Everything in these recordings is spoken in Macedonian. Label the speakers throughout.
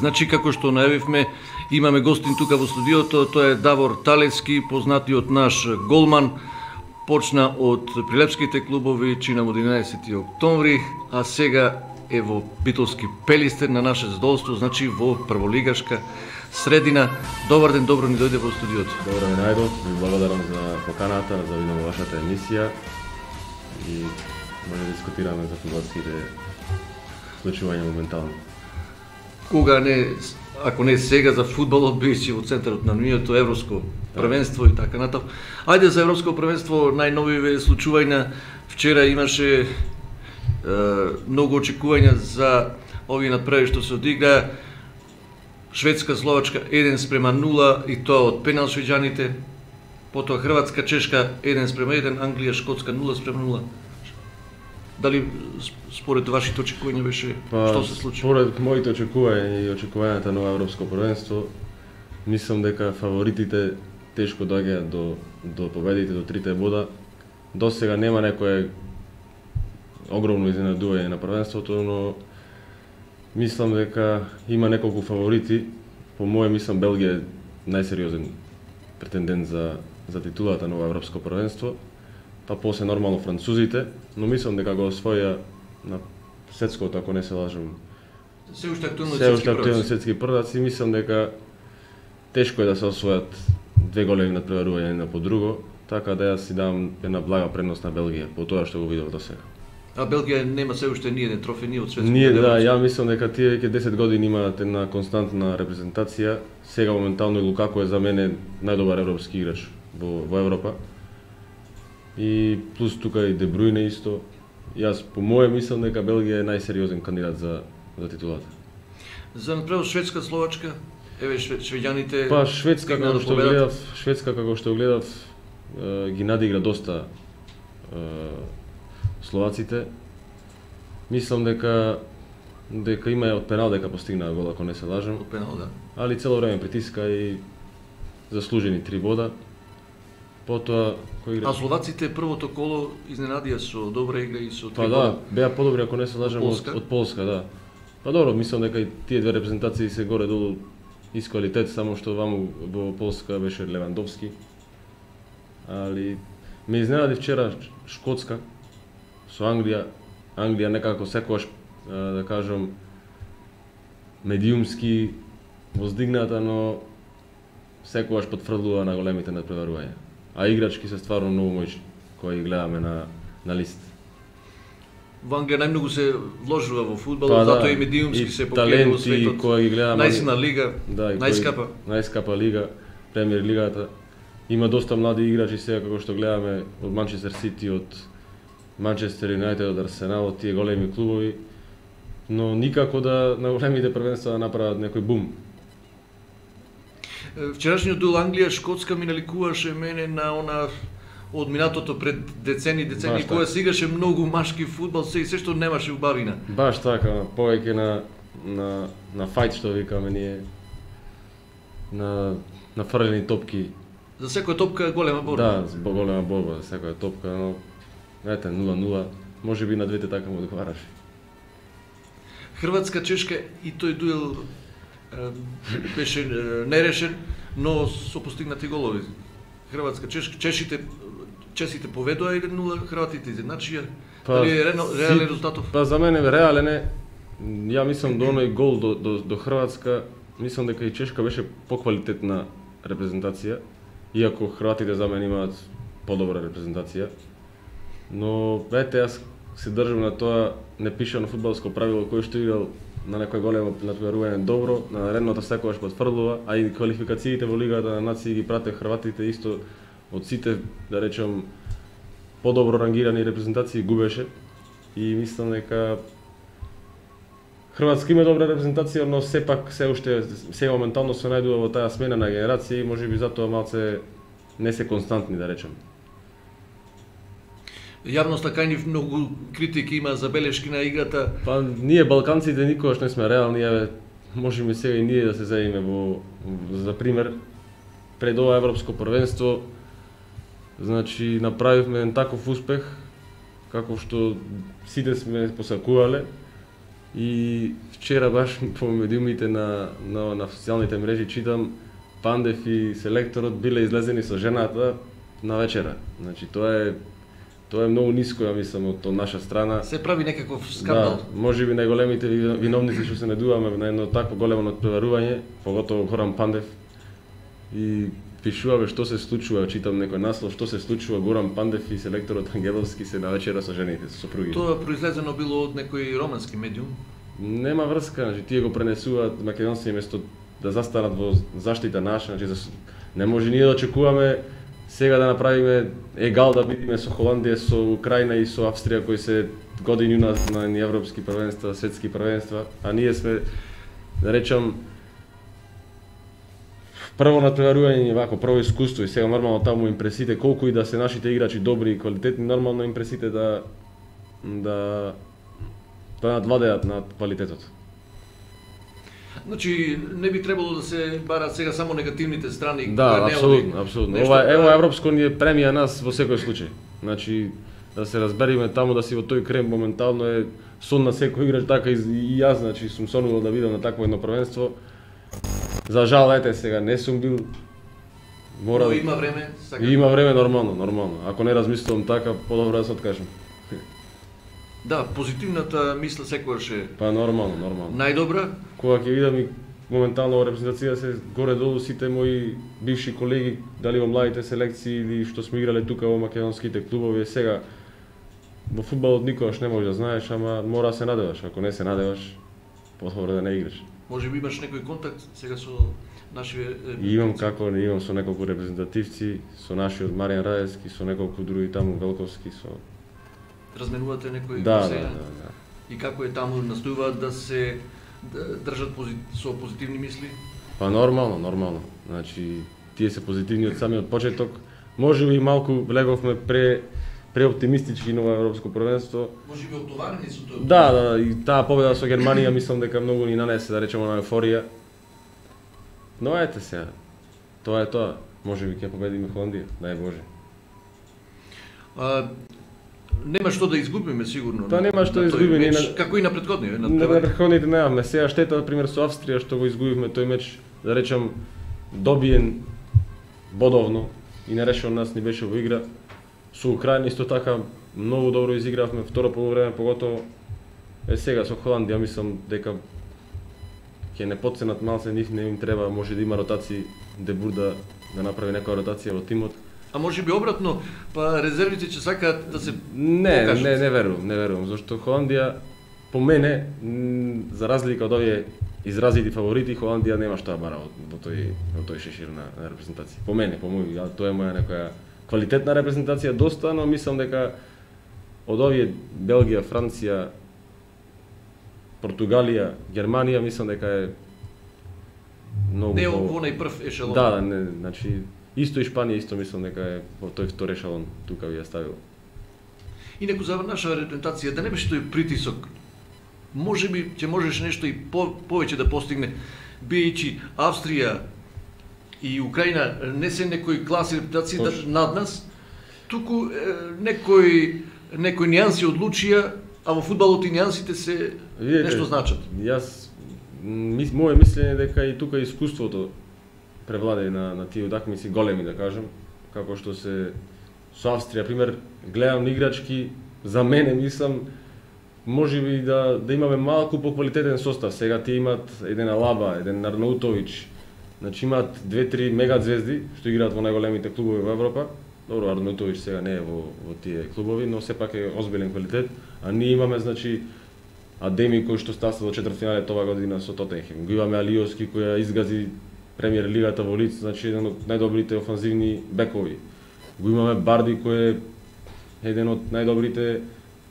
Speaker 1: Значи, како што најавивме, имаме гостин тука во студиото, тоа е Давор Талевски, познатиот наш голман. Почна од прилепските клубови, чина од 11. октомври, а сега е во битолски Пелистер на наше задоволство, значи во прволигашка средина. Добар ден, добро ни дојде во студиото.
Speaker 2: Добро ми најдов, ви благодарам за поканата, за видам во вашата емисија и може да дискутираме за фудбалските случувања моментално.
Speaker 1: Кога не, ако не сега за фудбалот, беше во центарот на вниманието европско првенство и така натаму. Ајде за европско првенство, најновиве случувања. Вчера имаше многу очекувања за овие надправи што се одигра. Шведска Словачка 1:0 и тоа од пенал швеđаните. Потоа Хрватска Чешка 1:1, Англија Шкотска 0:0. Дали според вашите очекувања беше што се случи?
Speaker 2: Според моите очекувања и очекувањата на европско првенство, мислам дека фаворитите тешко доаѓаат до победите, до 3 бода. До сега нема некое огромно изненадување на првенството, но мислам дека има неколку фаворити. По моје мислам Белгија е најсериозен претендент за титулата на европско првенство. Па после нормално французите, но мислам дека го освоја на светското, ако не се лажам.
Speaker 1: Се уште актуелни
Speaker 2: светски прваци, мислам дека тешко е да се освојат две големи надпреварувања една по друго, така да јас си давам една блага предност на Белгија по тоа што го видов до сега.
Speaker 1: А Белгија нема се уште ни еден трофеј ни од светското.
Speaker 2: Ние да, ја мислам дека тие веќе 10 години имаат една константна репрезентација. Сега моментално и Лукако е за мене најдобар европски играч во Европа. И плюс тука и Де Брујне исто. Јас по моје мислам дека Белгија е најсериозен кандидат за титулата.
Speaker 1: За напред Шведска Словачка, еве швеđаните.
Speaker 2: Па Шведска како што гледав ги надигра доста словаците. Мислам дека има од пенал дека постигнаа гол, ако не се лажам.
Speaker 1: Од пенал, да.
Speaker 2: Али цело време притиска и заслужени 3 бода. Потоа кој игра?
Speaker 1: А словаците првото коло изненадија со добра игра и со 3
Speaker 2: бода. Па да, беа подобри ако не се лажам од Полска, да. Па добро, мислам дека и тие две репрезентации се горе-долу из квалитет, само што ваму во Полска беше Левандовски. Али ме изненади вчера Шкотска со Англија. Англија некако секогаш, да кажам, медиумски воздигната, но секогаш потврдува на големите надпреварувања. А играчки се стварно многу моćни, кои гледаме на лист.
Speaker 1: Во Англија најмногу се вложува во фудбалот, затоа и медиумски се покрива во светот.
Speaker 2: Кои ги гледаме,
Speaker 1: најсилна лига,
Speaker 2: да, најскапа лига, Премиер лигата. Има доста млади играчи сега како што гледаме од Манчестер Сити, од Манчестер Юнајтед, од Арсенал, од тие големи клубови, но никако да на големите првенства да направат некој бум.
Speaker 1: Вчерашниот дуел Англија-Шкотска ми наликуваше мене на она од минатото пред децени, кога се играше многу машки фудбал, се што немаше убавина.
Speaker 2: Баш така, повеќе на фајт што викаме ние, на фрлени топки.
Speaker 1: За секоја топка голема борба.
Speaker 2: Да, за голема борба за секоја топка, но ете 0:0, можеби на двете така му одговараше.
Speaker 1: Хрватска Чешка и тој дуел беше нерешен, но со постигнати голови. Хрватска Чешка, чешите поведоа 1:0, хрватите изедначија. Дали е реален резултатов?
Speaker 2: Па за мене реален е. Ја мислам до оној гол до Хрватска, мислам дека и Чешка беше поквалитетна репрезентација, иако хрватите за мене имаат подобра репрезентација. Но ете, јас се држам на тоа непишано фудбалско правило, кој што играл на некој големо надпреварување добро, на наредното секогаш потврдува, а и квалификациите во Лигата на нации ги прате хрватите исто од сите, да речем, подобро рангирани репрезентации губеше. И мислам дека Хрватска има добра репрезентација, но сепак се уште сега моментално се најдува во таа смена на генерации, можеби затоа малце не се константни, да речем.
Speaker 1: Јавноста кај нив многу критики има, забелешки на играта.
Speaker 2: Па ние балканците никогаш не сме реални, можеме сега и ние да се заеме за пример пред ова европско првенство. Значи направивме таков успех како што сите сме посакувале И вчера баш по медиумите на социјалните мрежи читам Пандев и селекторот биле излезени со жената на вечера. Значи тоа е многу ниско, ја мислам, од наша страна.
Speaker 1: Се прави некаков скандал.
Speaker 2: Да, можеби најголемите виновници што се надуваме на едно такво големо натпреварување, поготово Горан Пандев. И пишуваме што се случува, читам некој наслов, што се случува, Горан Пандев и селекторот Ангеловски се на вечера со жените, со сопруги.
Speaker 1: Тоа произлезено било од некој романски медиум?
Speaker 2: Нема врска, значи тие го пренесуваат македонци место да застанат во заштита наша, значи не може ние да очекуваме сега да направиме егал да бидеме со Холандија, со Украина и со Австрија кои се години уназад на европски првенства, светски првенства, а ние сме, да речам, прво натпреварување, вако прво искуство и сега нормално таму импресите, колку и да се нашите играчи добри и квалитетни, нормално импресите да надвладеат над квалитетот.
Speaker 1: Значи, не би требало да се барат сега само негативните страни.
Speaker 2: Да, апсолутно. Ова европско ни е премија нас во секој случај. Значи, да се разбериме таму да си во тој крем моментално е сон на секој играч, така и јас, значи, сум сонувал да видам на такво едно првенство. За жал, ете сега, не сум бил.
Speaker 1: Но има време.
Speaker 2: Има време, нормално. Ако не размислувам така, подобро да се откажам.
Speaker 1: Да, позитивната мисла секогаш е.
Speaker 2: Па нормално.
Speaker 1: Најдобра.
Speaker 2: Кога ќе видам и моментално во репрезентација се горе-долу сите мои бивши колеги, дали во младите селекции или што сме играле тука во македонските клубови, сега во фудбалот никогаш не можеш да знаеш, ама мора да се надеваш. Ако не се надеваш, подобро да не играш.
Speaker 1: Може би имаш некој контакт сега со нашиве?
Speaker 2: Имам со неколку репрезентативци, со нашиот Маријан Раевски, со неколку други таму Велковски, со
Speaker 1: разменувате некои
Speaker 2: да.
Speaker 1: И како е таму, настојуваат да се држат со позитивни мисли?
Speaker 2: Па нормално. Значи, тие се позитивни од самиот почеток. Може би малку влеговме преоптимистички на европско првенство.
Speaker 1: Може би оптоварени со тоа?
Speaker 2: Да, и таа победа со Германија мислам дека многу ни нанесе, да речеме, на еуфорија. Но ете сега, тоа е тоа. Може би ќе победиме Холандија, дај Боже.
Speaker 1: Нема што да изгубиме сигурно.
Speaker 2: Тоа нема што да изгубиме.
Speaker 1: Како и на претходниот.
Speaker 2: На претходните немаме. Сега штета, например, со Австрија што го изгубивме тој меч, да речам, добиен бодовно и нерешено нас ни беше во игра. Со Украина исто така многу добро изигравме второ полувреме, поготово сега со Холандија мислам дека ќе не потценат малце, нив не им треба, може да има ротации, Дебур да направи некоја ротација во тимот.
Speaker 1: А може би обратно, па резервите ќе сакаат да се
Speaker 2: покажат? Не верувам, зашто Холандија, по мене, за разлика од овие изразити фаворити, Холандија нема што да бара во тој шешир на репрезентација. По мене, тоа е моја некоја квалитетна репрезентација доста, но мислам дека од овие Белгија, Франција, Португалија, Германија, мислам дека е многу
Speaker 1: не во најпрв ешелон.
Speaker 2: Да, значи исто и Шпанија исто мислам дека е во тој втори ешелон, тука ви ја ставил.
Speaker 1: Инаку за наша репрезентација да не беше тој притисок. Можеби ќе можеш нешто и повеќе да постигне, биејќи Австрија и Украина не се некои класи репутации над нас, туку некои нијанси одлучија, а во фудбалот и нијансите се нешто значат.
Speaker 2: Моје мислење дека и тука искуството превладе на тие утакмици големи, да кажам, како што се со Австрија, пример, гледам играчки, за мене мислам можеби да имаме малку поквалитетен состав. Сега тие имаат еден Алаба, еден Арнаутович, значи имаат 2-3 мега звезди што играат во најголемите клубови во Европа. Добро, Арнаутович сега не е во тие клубови, но сепак е озбилен квалитет, а ние имаме значи Адеми кој што стаса до четвртфинале ова година со Тотенхем. Го имаме Алиовски кој ја изгази премиер лигата во лиц, значи еден од најдобрите офанзивни бекови. Го имаме Барди кој е еден од најдобрите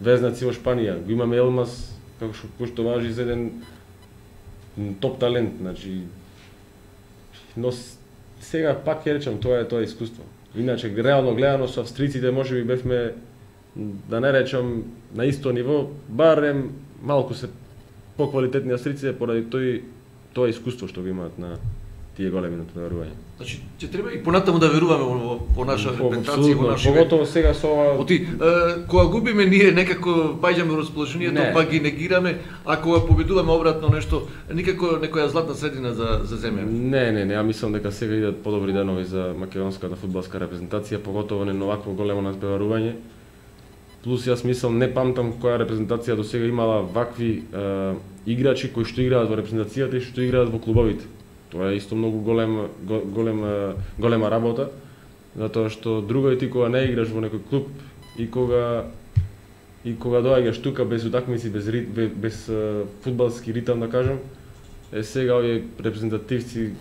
Speaker 2: везнаци во Шпанија. Го имаме Елмас кој што важи за еден топ талент, значи. Но сега пак ќе речам тоа е искуство. Иначе реално гледано со австриците можеби бевме, да не речам на исто ниво, барем малку се поквалитетни австриците поради тоа искуство што го имаат тие големи натпреварувања.
Speaker 1: Значи, ќе треба и понатаму да веруваме во наша репрезентација, во нашите.
Speaker 2: Поготово сега со ова.
Speaker 1: Оти, кога губиме ние некако паѓаме во расположението, па ги негираме, а кога победуваме обратно нешто, никако некоја златна средина за земја.
Speaker 2: Не, ја мислам дека сега идат подобри денови за македонската фудбалска репрезентација, поготово не на овакво големо натпреварување. Плюс јас мислам, не памтам која репрезентација до сега имала вакви играчи кои што играат во репрезентацијата и што играат во клубовите. Тоа е исто многу голема работа, затоа што друго е ти кога не играш во некој клуб и кога доаѓаш тука без утакмици, без фудбалски ритам, да кажам, сега овие репрезентативци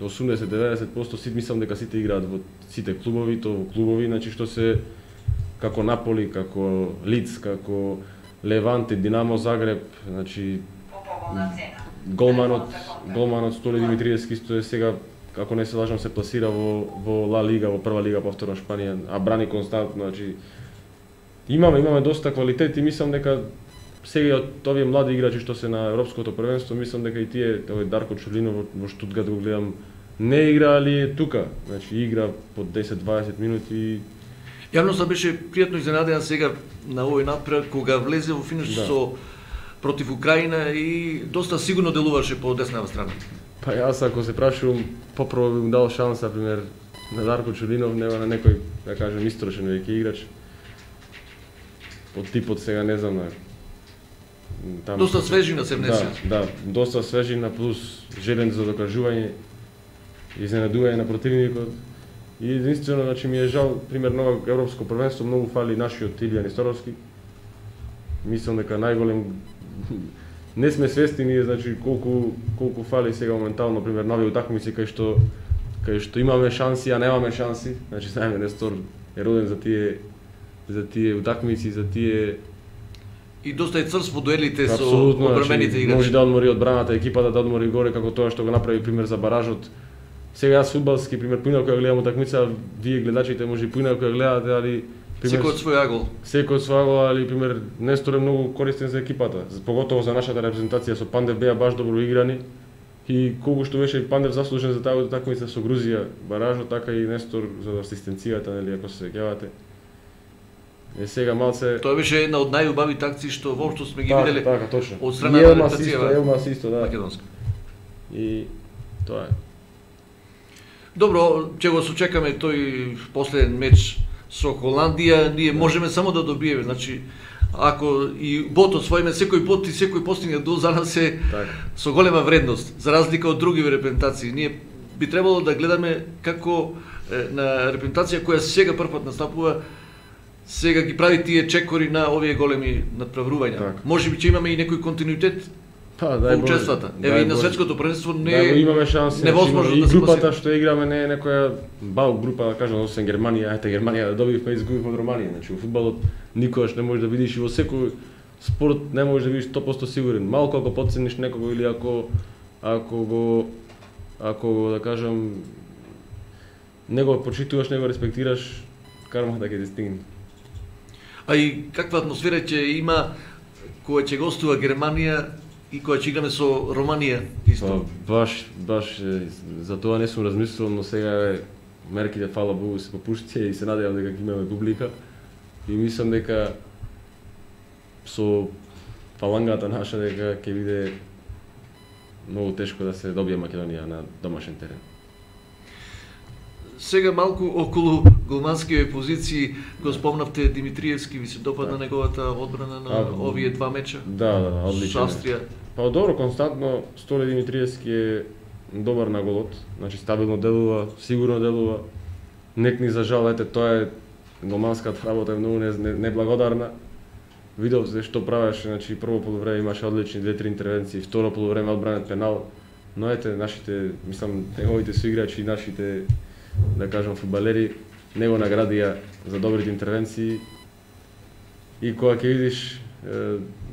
Speaker 2: 80-90% сите мислам дека сите играат во сите клубови, тоа во клубови, значи што се како Наполи, како Лиц, како Леванте, Динамо Загреб, значи голманот Столе Димитриевски исто е сега, ако не се лажам, се пласира во Ла Лига, во прва лига повторно Шпанија, а брани константно, значи имаме доста квалитет и мислам дека сега од овие млади играчи што се на европското првенство, мислам дека и тие, овој Дарко Чулинов во Штутгарт го гледам, не игра, али е тука, значи игра по 10-20 минути.
Speaker 1: Јавноста беше пријатно изненадена сега на овој напред кога влезе во финиш со против Украина и доста сигурно делуваше по деснава страна.
Speaker 2: Па јас ако се прашувам, попрво би му дал шанса, пример, на Дарко Чулинов, нема на некој, да кажем, истрошен веќе играч. Од типот сега не знам, там
Speaker 1: доста свежина се внесе.
Speaker 2: Да, доста свежина плюс желен за докажување, изненадување на противникот. И единствено, значи ми е жал, пример, ново европско првенство, многу фали нашиот Илија Несторовски. Мислам дека најголем не сме свесни ние, значи колку фали сега моментално, пример, нови утакмици кај што имаме шанси, а немаме шанси. Значи знаеме Нестор е роден за тие утакмици, за тие
Speaker 1: и доста е црс во дуелите со
Speaker 2: одбрамените играчи. Може да одмори одбраната, екипата да одмори горе, како тоа што го направи пример за баражот. Сега јас фудбалски пример поинаку ја гледам утакмица, вие гледачите може и поинаку ја гледате, али
Speaker 1: секој од свој агол.
Speaker 2: Секој од свој агол, али пример Нестор е многу користен за екипата, поготово за нашата репрезентација со Пандев беа баш добро играни и колку што беше Пандев заслужен за таа утакмица со Грузија, баражот, така и Нестор за асистенцијата, нели, ако се сеќавате. Сега малце
Speaker 1: тоа беше една од најубавите акции што воопшто сме ги виделе.
Speaker 2: Така, точно.
Speaker 1: Од страна на репрезентацијата.
Speaker 2: Елмас исто, да.
Speaker 1: Македонска.
Speaker 2: И тоа е.
Speaker 1: Добро, ќе го сочекаме тој последен меч со Холандија, ние можеме само да добиеме, значи ако и ботот својме, секој бот и секој постигнат гол за нас е со голема вредност, за разлика од други репрезентации. Ние би требало да гледаме како на репрезентација која сега првпат настапува, сега ги прави тие чекори на овие големи надпреварувања. Можеби ќе имаме и некој континуитет во учествата. Еве и на светското првенство не
Speaker 2: имаме шанси.
Speaker 1: Невозможно
Speaker 2: да
Speaker 1: се
Speaker 2: групата што играме не е некоја бал група, да кажам, освен Германија, Германија да добивме изгуби од Романија. Значи во фудбалот никогаш не можеш да видиш и во секој спорт не можеш да видиш 100% сигурен. Малку ако потцениш некого или ако го да кажам не го почитуваш, не го респектираш, карма да ќе те стигне.
Speaker 1: А и каква атмосфера ќе има кога ќе гостува Германија и кога ќе играме со Романија исто?
Speaker 2: Баш за тоа не сум размислувал, но сега мерките, фала Богу, се попуштија и се надевам дека ќе имаме публика. И мислам дека со фалангата наша дека ќе биде многу тешко да се добие Македонија на домашен терен.
Speaker 1: Сега малку околу голманските позиции го спомнавте Димитриевски, ви се допадна неговата одбрана на овие два меча?
Speaker 2: Да, одлично.
Speaker 1: Со Австрија.
Speaker 2: Па добро, константно Столе Димитриевски е добар на голот, значи стабилно делува, сигурно делува. Некни за жал, тоа е голманската работа е многу неблагодарна. Видов се што правеше, значи прво полувреме имаше одлични 2-3 интервенции, второ полувреме одбранет пенал, но нашите, мислам, неговите соиграчи и нашите, да кажам, фудбалери не го наградија за добрите интервенции и кога ќе видиш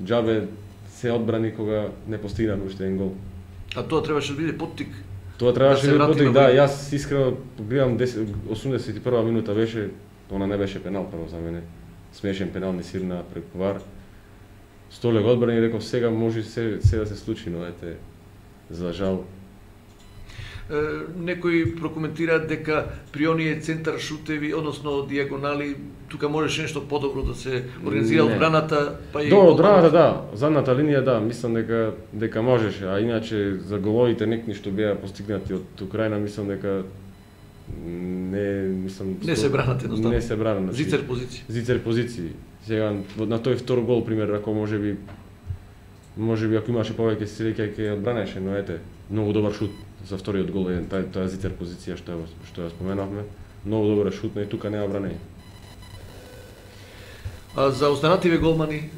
Speaker 2: џабе се одбрани кога не постигна уште еден гол.
Speaker 1: А тоа требаше да биде поттик.
Speaker 2: Тоа требаше да биде поттик, да, јас искрено гледам 81 минута беше, она не беше пенал прво за мене. Смешен пенал не сирна преку ВАР. Столе го одбрани и реков сега може се да се случи, но за жал.
Speaker 1: Некои прокоментираат дека при оние центар шутеви, односно диагонали, тука можеше нешто подобро да се организира одбраната, па и
Speaker 2: одбраната да, задната линија да, мислам дека можеше, а иначе за головите некни што беа постигнати од Украина, мислам дека
Speaker 1: не се бранат едноставно.
Speaker 2: Не се бранат.
Speaker 1: Зицер позиции.
Speaker 2: Зицер позиции. Сега на тој втор гол пример, ако можеби ако имаше повеќе среќа ќе одбранеше, но ете, многу добар шут за вториот гол е таа зицер позиција што ја споменавме. Многу добар шут, но и тука нема бранење.
Speaker 1: А за останативе голмани,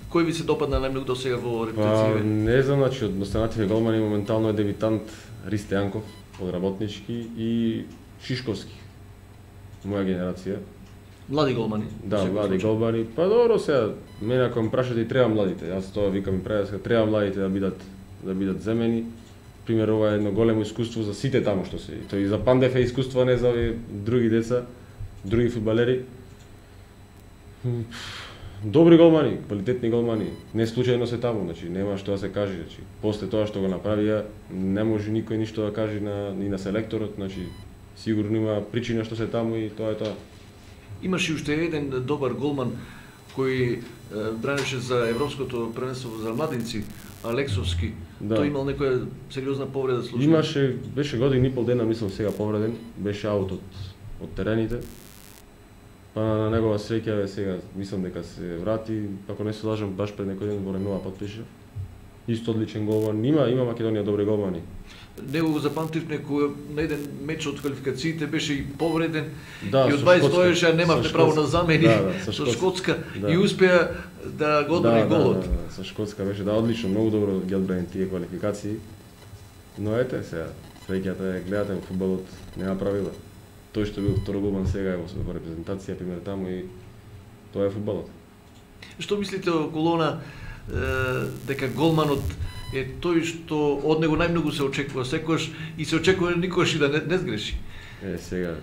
Speaker 1: кој ви се допадна најмногу до сега во репетициите?
Speaker 2: Не знам, значи од останативе голмани моментално е дебитант Ристе Јанков од Работнички и Шишковски. Моја генерација.
Speaker 1: Млади голмани.
Speaker 2: Да, млади голмани. Па добро сега, мене ако ме прашате и треба младите. Јас тоа викам и преска, треба младите да бидат земени. Пример, ова е едно големо искуство за сите таму што се. Тој и за Пандев е искуство, не за овие други деца, други фудбалери. Добри голмани, квалитетни голмани. Не случајно се таму, значи нема што да се каже, значи после тоа што го направија, не може никој ништо да каже ни на селекторот, значи сигурно има причина што се таму и тоа е тоа.
Speaker 1: Имаше уште еден добар голман кој бранеше за европското првенство за младинци, Алексовски. Да. Тој имал некоја сериозна повреда случај.
Speaker 2: Беше година и пол дена, мислам сега повреден, беше аут од терените. Па на негова среќа сега мислам дека се врати, ако не се лажам, баш пред некој ден во Ренова потпиша. Исто одличен голман. Има Македонија добри голмани.
Speaker 1: Него го запамтив на еден меч од квалификациите, беше и повреден,
Speaker 2: да,
Speaker 1: и од 20 стоеше, а немавте право на замени со Шкотска и успеа да го одбрани голот.
Speaker 2: Со Шкотска беше одлично, многу добро ги одбрани тие квалификации. Но ете сега, среќата е, гледате во фудбалот, нема правила. Тој што бил втор голман сега е во репрезентација, пример таму, и тоа е фудбалот. Што
Speaker 1: мислите околу она дека голманот е тој што од него најмногу се очекува секогаш и се очекува никогаш и да не сгреши?
Speaker 2: Сега.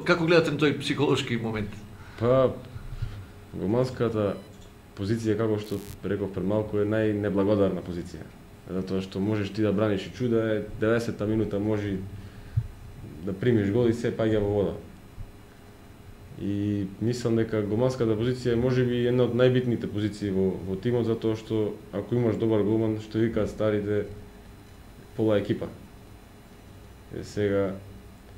Speaker 1: Како гледате на тој психолошки момент?
Speaker 2: Па голманската позиција, како што реков пред малку, е најнеблагодарна позиција. Затоа што можеш ти да браниш и чуда, 90-та минута може да примиш гол и се паѓа во вода. И мислам дека голманската позиција е можеби една од најбитните позиции во тимот, затоа што ако имаш добар голман, што викаат старите, пола екипа. Сега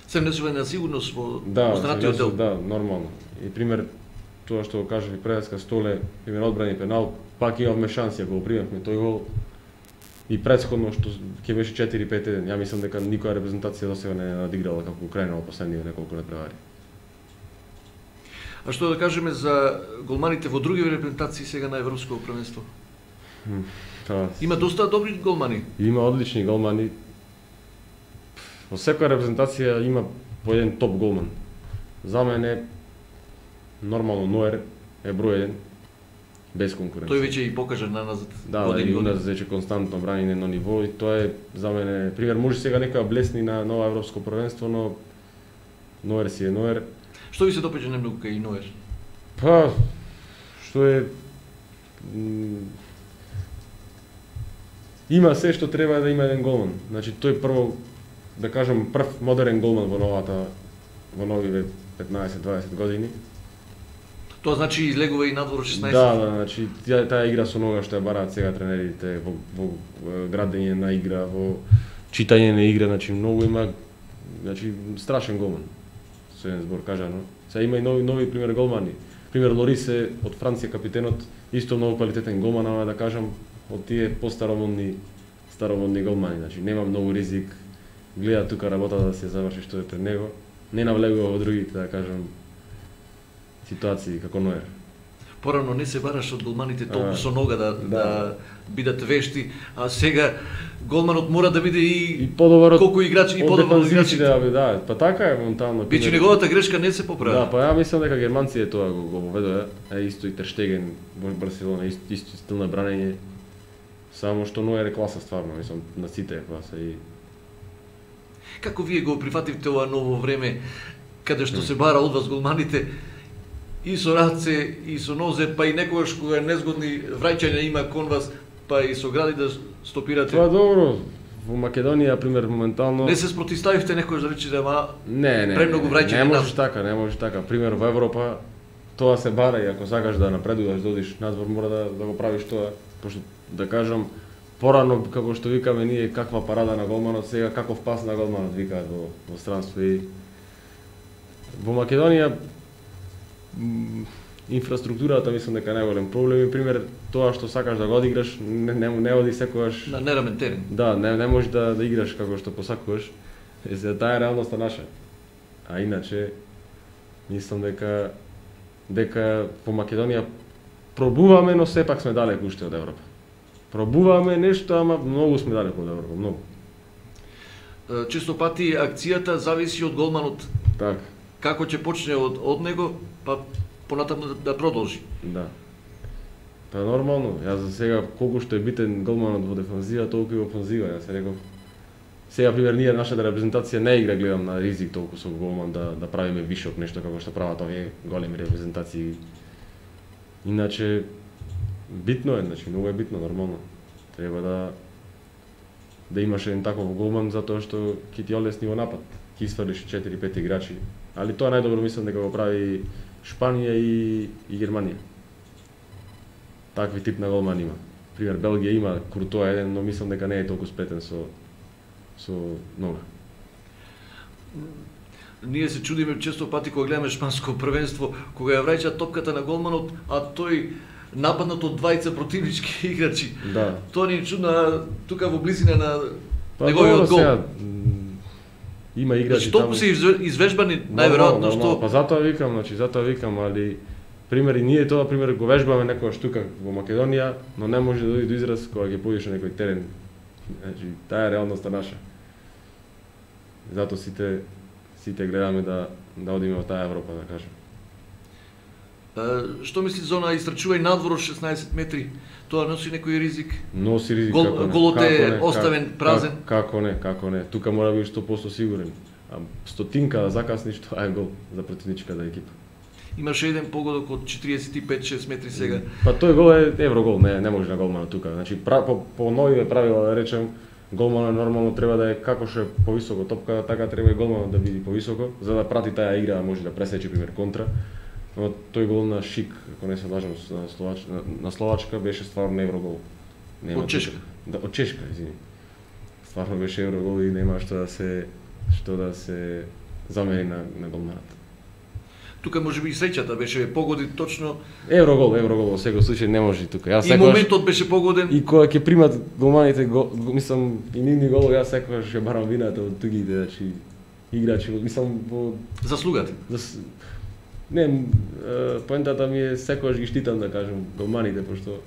Speaker 1: се внесува на сигурност во останатиот дел.
Speaker 2: Да, нормално. И пример тоа што го кажав и предска Столе, пример одбрани пенал, пак имавме шанси ако го примевме тој гол. И претходно што ќе беше 4-5-1, ја мислам дека никоја репрезентација досега не надиграла како Украина во последниве неколку надпревари.
Speaker 1: А што да кажеме за голманите во други репрезентации сега на европско првенство? Има доста добри голмани.
Speaker 2: Има одлични голмани. Во секоја репрезентација има по еден топ голман. За мене нормално Ноер е број 1. Без конкуренција.
Speaker 1: Тој веќе и покажа на назад.
Speaker 2: Да, и у нас веќе константно брани на едно ниво и тоа е за мене, пример, може сега некоја блесни на ново европско првенство, но Ноер си е Ноер.
Speaker 1: Што ви се допаѓа најмногу кај Ноер?
Speaker 2: Па, што е има се што треба да има еден голман. Значи тој прво, да кажам, прв модерен голман во новиве 15-20 години.
Speaker 1: Тоа значи излегува и надвор 16.
Speaker 2: Да, значи таа игра со нога што ја бараат сега тренерите во градење на игра, во читање на игра, значи многу има, значи страшен голман. Со еден збор кажано. Сега има и нови пример голмани. Пример Лорисе од Франција капитенот, исто многу квалитетен голман, ама да кажам од тие старомодни голмани, значи нема многу ризик. Гледа тука работа да се заврши што е пред него. Не навлегува во другите, да кажам, ситуации како Ноер.
Speaker 1: Порано не се бараш од голманите толку со нога да бидат вешти, а сега голманот мора да биде и
Speaker 2: подобар
Speaker 1: колку играчи и подобар од играчите.
Speaker 2: Да, па така е моментално.
Speaker 1: Биче неговата грешка не се поправи.
Speaker 2: Да, па ја мислам дека германците тоа го воведоа, исто и Тер Штеген во Барселона, исто стил на бранење. Само што Ноер е класа стварно, мислам на сите е класа и
Speaker 1: како вие го прифативте ова ново време каде што се бара од вас голманите? И со раце, и со нозе, па и некогаш кога незгодни враќања има кон вас, па и со гради да стопирате.
Speaker 2: Тоа добро. Во Македонија, пример, моментално...
Speaker 1: Не се спротивставивте некој да рече дека
Speaker 2: Не,
Speaker 1: премногу враќање
Speaker 2: не можеш така, не можеш така. Пример, во Европа тоа се бара и ако сакаш да напредуваш, да одиш надвор, мора да го правиш тоа, пошто да кажам порано како што викаме ние каква парада на голманот, сега каков пас на голманот викаат во странство и во Македонија инфраструктурата мислам дека е најголем проблем и пример тоа што сакаш да го одиграш не оди секогаш
Speaker 1: на нерамен терен.
Speaker 2: Да, не можеш да играш како што посакуваш. За таа е реалноста наша. А иначе мислам дека во Македонија пробуваме, но сепак сме далеку уште од Европа. Пробуваме нешто, ама многу сме далеку од Европа, многу.
Speaker 1: Често пати акцијата зависи од голманот.
Speaker 2: Така.
Speaker 1: Како ќе почне од него, па понатаму да продолжи.
Speaker 2: Да. Па нормално, јас за сега колку што е битен голманот во дефанзива, толку и во офанзива, јас реков. Сега пример ние нашата репрезентација не игра, гледам на ризик толку со голман да правиме вишок нешто како што прават овие големи репрезентации. Иначе битно е, значи многу е битно нормално. Треба да имаш еден таков голман затоа што ќе ти олесни во напад. Ќе исфрлиш 4-5 играчи, али тоа најдобро мислам дека го прави Шпанија и Германија. Такви тип на голман има. Пример Белгија има Куртоа еден, но мислам дека не е толку сплетен со нога.
Speaker 1: Ние се чудиме често пати кога гледаме шпанско првенство, кога ја враќа топката на голманот, а тој нападнат од двајца противнички играчи.
Speaker 2: Да.
Speaker 1: Тоа ни е чудно тука во близина на неговиот гол.
Speaker 2: Има играчи
Speaker 1: таму. Што се извежбани најверојатно што
Speaker 2: па затоа викам, али пример и ние тоа пример го вежбаме некогаш тука во Македонија, но не може да дојде до израз кога ќе појдеш на некој терен. Значи таа е реалноста наша. Затоа сите гледаме да одиме во таа Европа, да кажем.
Speaker 1: Што мисли за она истрчување надвор од 16 метри? Тоа носи некој ризик?
Speaker 2: Носи ризик, како не.
Speaker 1: Голот е оставен празен?
Speaker 2: Како не. Тука мора да бидеш 100% сигурен. А стотинка да закасниш, тоа е гол за противничката екипа.
Speaker 1: Имаше еден погодок од 45-6 метри сега.
Speaker 2: Па тој гол е еврогол, не може на голманот тука. Значи по новиве правила да речем, голманот нормално треба да е како што е повисоко топка, така треба и голманот да биде повисоко, за да прати таа игра, може да пресече пример контра. Но тој гол на Шик, ако не се лажам, на Словачка беше стварно еврогол.
Speaker 1: Од Чешка?
Speaker 2: Да, од Чешка, извини. Стварно беше еврогол и нема што да се замени на голманот.
Speaker 1: Тука може би и среќата беше погоди точно.
Speaker 2: Еврогол во секој случај не може тука. Јас
Speaker 1: и моментот беше погоден.
Speaker 2: И кога ќе примат голманите, мислам и нивни голови, јас секогаш ќе барам вината од тугите, значи играчи, мислам во
Speaker 1: заслугата.
Speaker 2: Не, поентата ми е секогаш ги штитам да кажам голманите, пошто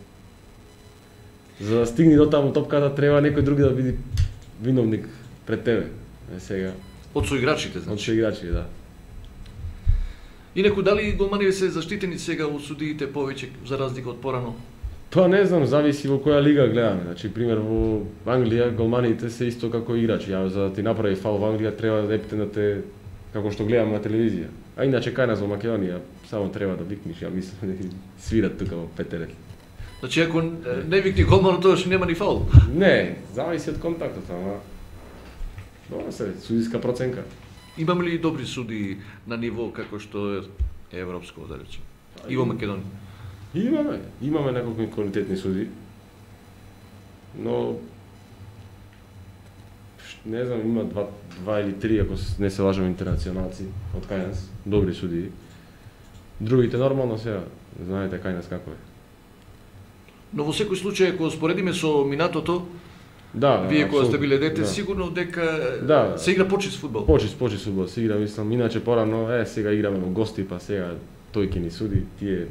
Speaker 2: за да стигне до таму топката треба некој други да биде виновник пред тебе. Сега
Speaker 1: од соиграчите, значи.
Speaker 2: Од соиграчите, да.
Speaker 1: Инаку дали голманите се заштитени сега од судиите повеќе за разлика од порано?
Speaker 2: Тоа не знам, зависи во која лига гледаме. Значи пример во Англија голманите се исто како играчи. За да ти направи фал во Англија треба да епитенате како што гледаме на телевизија. А иначе кај нас во Македонија само треба да викнеш, ја мислам да свират тука во Петерет.
Speaker 1: Значи ако не викни голманот тоа што нема ни фаул.
Speaker 2: Не, зависи од контактот, ама добро се, судиска проценка.
Speaker 1: Имаме ли добри суди на ниво како што е европско, да речем? И во Македонија?
Speaker 2: Имаме неколку квалитетни суди. Но не знам, има два или три, ако не се лажам, интернационалци од кај нас, добри судии. Другите нормално сега, знаете кај нас како е.
Speaker 1: Но во секој случај, ако споредиме со минатото,
Speaker 2: да,
Speaker 1: вие кога сте биле дете, сигурно дека се игра почист фудбал.
Speaker 2: Почист фудбал се игра, мислам, иначе порано, сега играме во гости, па сега тој ќе ни суди, тие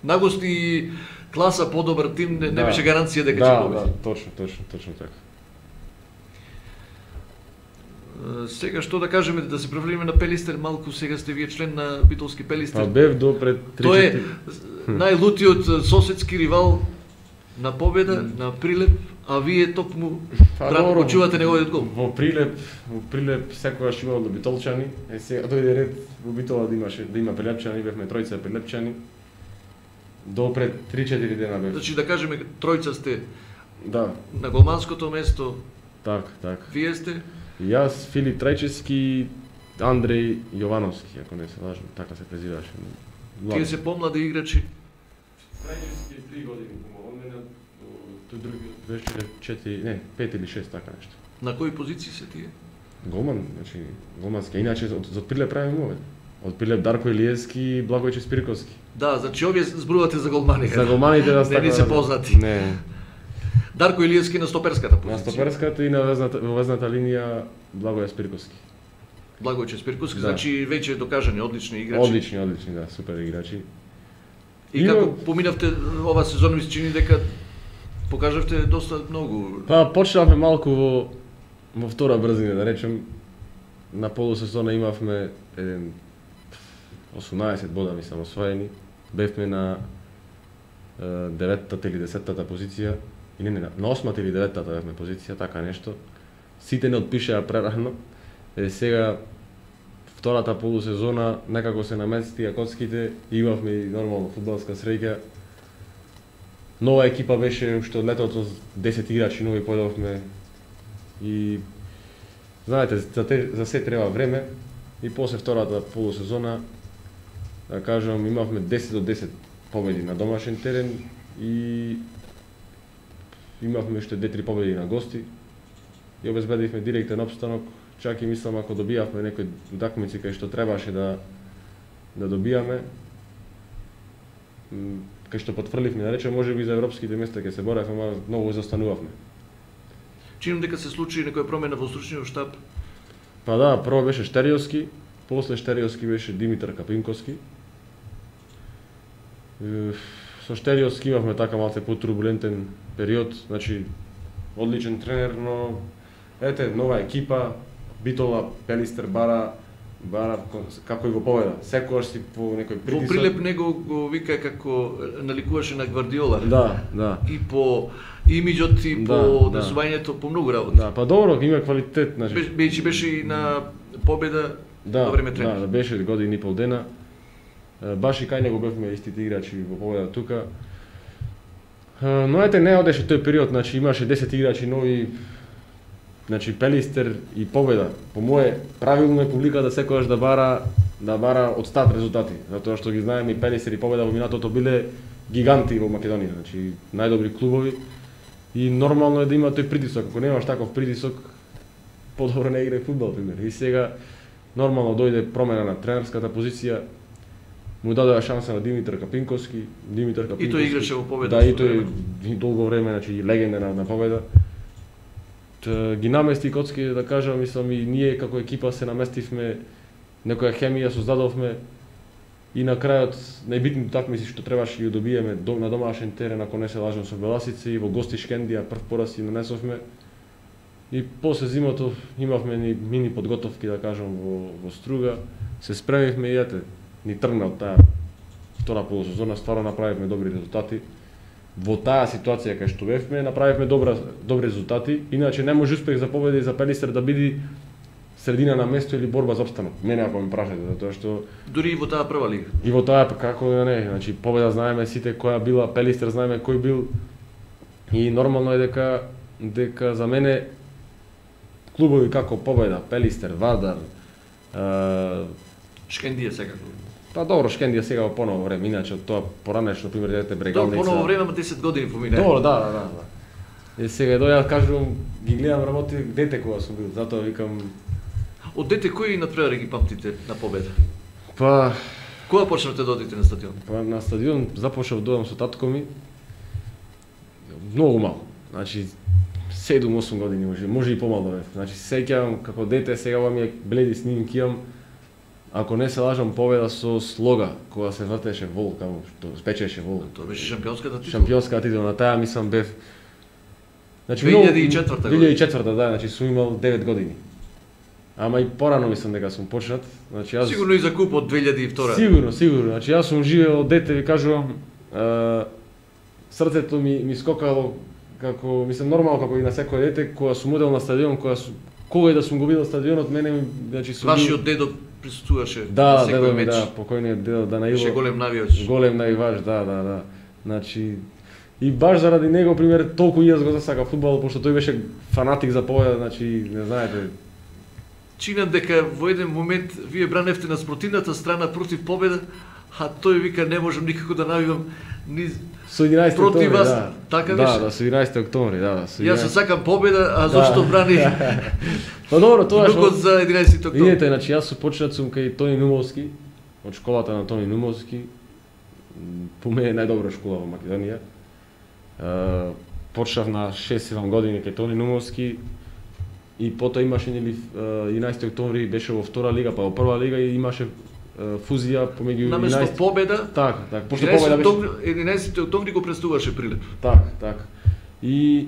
Speaker 1: на гости класа подобар тим не беше гаранција дека ќе победи.
Speaker 2: Да, точно така.
Speaker 1: Сега што да кажеме, да се префрлиме на Пелистер, малку сега сте вие член на битолски Пелистер.
Speaker 2: Па бев до пред 3-4.
Speaker 1: Тој е најлутиот соседски ривал на победа, на Прилеп, а вие токму почувате неговиот гол.
Speaker 2: Во Прилеп секогаш имало до битолчани, сега дојде ред во Битола да има прилепчани, бевме тројца прилепчани. До пред 3-4 дена бев.
Speaker 1: Значи да кажеме тројца сте
Speaker 2: Да.
Speaker 1: На голманското место
Speaker 2: Так.
Speaker 1: вие сте?
Speaker 2: Јас, Филип Трајчевски, Андреј Јовановски, ако не се лажам, така се презиваше.
Speaker 1: Тие се помлади играчи.
Speaker 2: Трајчевски е 3 години помал од мене, тој други беше 5 или 6, така нешто.
Speaker 1: На кои позиции се тие?
Speaker 2: Голман, значи голмански, иначе за Прилеп правиме овој. Од Прилеп Дарко Илиевски и Благојче Спирковски.
Speaker 1: Да, значи овие зборувате за голмани.
Speaker 2: За голманите да
Speaker 1: не ни се познати.
Speaker 2: Не.
Speaker 1: Дарко Илиевски на стоперската позиција.
Speaker 2: На стоперската и на везната линија Благоје Спирковски.
Speaker 1: Благојче Спирковски,
Speaker 2: Да.
Speaker 1: значи веќе докажани одлични играчи.
Speaker 2: Одлични, да, супер играчи.
Speaker 1: И како поминавте ова сезона, ми се чини дека покажавте доста многу.
Speaker 2: Па почнавме малку во втора брзина, да речем. На полусезона имавме 18 бода мислам освоени. Бевме на 9-та или 10-та позиција. И не, на 8-та или 9-та бевме позиција, така нешто. Сите не отпишеа прерано. Сега втората полусезона некако се наместија коцките, имавме и нормално фудбалска среќа. Нова екипа беше уште од летото, 10 играчи нови појдовме и знаете, за се треба време и после втората полусезона, да кажам, имавме 10 до 10 победи на домашен терен и имавме уште 2-3 победи на гости и обезбедивме директен опстанок. Чак и мислам ако добијавме некои удакмици кај што требаше да добијаме, кај што потврливме, да речем, можеби за европските места ќе се боревме, ама многу застанувавме.
Speaker 1: Чинам дека се случи некоја промена во стручниот штаб.
Speaker 2: Па да, прво беше Штериовски, после Штериовски беше Димитар Капинковски. Со Штериовски имавме така малце потурбулентен период, значи одличен тренер, но ете, нова екипа, Битола, Пелистер бара како и го поведа. Секогаш си по некој притисок.
Speaker 1: Во Прилеп него го вика како наликуваше на Гвардиола.
Speaker 2: Да.
Speaker 1: И по имиџот и по однесувањето, по многу работи.
Speaker 2: Да, па добро, има квалитет, значи.
Speaker 1: Беше и на победа во време тренер.
Speaker 2: Да, беше година и пол дена. Баш и кај него бевме истите играчи во победа тука. Но ете, не одеше тој период, значи имаше 10 играчи нови. Значи Пелистер и победа. По мое правилно е публиката секогаш да бара од стат резултати, затоа што ги знаеме и Пелистер и победа во минатото биле гиганти во Македонија, значи најдобри клубови и нормално е да има тој притисок. Ако немаш таков притисок, подобро не играј фудбал, пример. И сега нормално дојде промена на тренерската позиција. Му дадоа шанса на Димитар Капинковски.
Speaker 1: И тој играше во победа.
Speaker 2: Да, и тој долго време, значи легенда на победа. Ги намести коцки, да кажам, мислам и ние како екипа се наместивме, некоја хемија создадовме и на крајот најбитните такмици што требаше ги добиеме на домашен терен, ако не се лажам, со Беласица и во гости Шкендија прв пораз си нанесовме. И после зимото имавме ни мини подготовки, да кажам, во Струга. Се спремивме и ете, ни тргна од таа втора полусезона, стварно направивме добри резултати. Во таа ситуација кај што бевме, направивме добри резултати, иначе не може успех за победа и за Пелистер да биде средина на место или борба за опстанок. Мене ако ме прашате, затоа што
Speaker 1: дури и во таа прва лига.
Speaker 2: И во таа како да не, значи победа знаеме сите која била, Пелистер знаеме кој бил. И нормално е дека за мене клубови како Победа, Пелистер, Вардар,
Speaker 1: Шкендија секако.
Speaker 2: Па добро, Шкендија сега во поново време, иначе од тоа поранешно, пример, дете Брегалница.
Speaker 1: Добро, поново време, ама 10 години помина.
Speaker 2: Добро, да. И сега дојав, кажувам, ги гледам работи дете кога сум бил, затоа викам...
Speaker 1: Од дете кои надпревари ги памтите на Победа?
Speaker 2: Па...
Speaker 1: Кога почнавте да одите на стадион?
Speaker 2: Па на стадион започнав да одам со татко ми. Многу мал. Значи 7-8 години може и помало бев. Значи сеќавам како дете, сега ми е бледи снимки имам. Ако не се лажам, Победа со слога кога се вртеше вол, каму што спечеше вол.
Speaker 1: Тоа беше шампионската титула.
Speaker 2: Шампионската титула, на таа мислам бев.
Speaker 1: Значи 2004 година.
Speaker 2: 2004, да, значи сум имал 9 години. Ама и порано мислам дека сум почнат. Значи јас
Speaker 1: сигурно и за купот 2002.
Speaker 2: Сигурно. Значи јас сум живеел дете, ви кажувам, срцето ми скокало како мислам нормално како и на секој дете кога сум одел на стадион, кога и да сум го видел стадионот, мене значи сум
Speaker 1: вашиот дедо присуствуваше
Speaker 2: на
Speaker 1: секој меч.
Speaker 2: Да, покојниот дедо Данаило.
Speaker 1: Беше голем навијач.
Speaker 2: Голем навивач, да. Значи И баш заради него, пример, толку и јас го засака фудбал, пошто тој беше фанатик за победа, значи, не знаете.
Speaker 1: Чинам дека во еден момент вие браневте на спротивната страна против победа, а тој вика не можам никако да навивам ни
Speaker 2: Со 11
Speaker 1: против вас,
Speaker 2: да.
Speaker 1: така
Speaker 2: Да,
Speaker 1: беше?
Speaker 2: да, со 11 октомври, да, да.
Speaker 1: Јас се сакам победа, а зошто брани
Speaker 2: Па добро, тоа
Speaker 1: внукот за 11 октомври?
Speaker 2: Видете, значи јас почнат сум кај Тони Нумовски, од школата на Тони Нумовски. По мене најдобра школа во Македонија. Почнав на 6-7 години кај Тони Нумовски и потоа имаше нели 11 октомври беше во втора лига, па во прва лига и имаше фузија помеѓу 11.
Speaker 1: Наместо победа,
Speaker 2: Така, пошто победа беше
Speaker 1: 11 октомври го престуваше Прилеп.
Speaker 2: така. И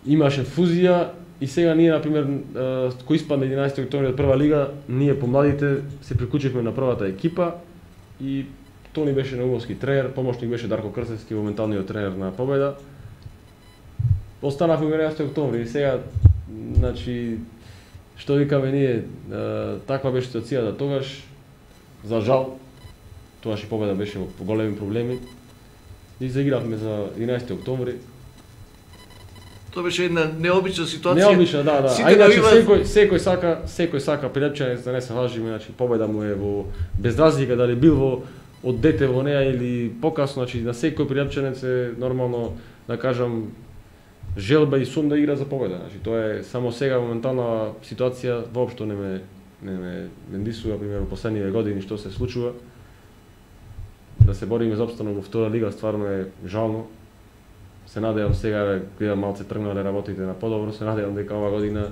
Speaker 2: имаше фузија и сега ние на пример кој испадна 11 октомври од прва лига, ние помладите се приклучивме на првата екипа и Тони беше Наумовски тренер, помошник беше Дарко Крсевски, моменталниот тренер на Победа. Останавме 11 октомври и сега, значи, што викаме ние, таква беше ситуацијата тогаш, за жал, тогаш и Победа беше во големи проблеми и заигравме за 11 октомври.
Speaker 1: Тоа беше една необична ситуација.
Speaker 2: Необична, да. А
Speaker 1: Сите
Speaker 2: иначе
Speaker 1: навиваат...
Speaker 2: секој сака Прилепчанец да не се лажиме, значи Победа му е во без разлика дали бил во од дете во неа или покасно, значи на секој Прилепчанец е нормално да кажам желба и сум да игра за Победа. Значи тоа е само сега моментална ситуација воопшто не ме дисува, пример во последниве години што се случува. Да се бориме за опстанок во втора лига стварно е жално. Се надевам сега, гледам малце тргнале работите на подобро, се надевам дека ова година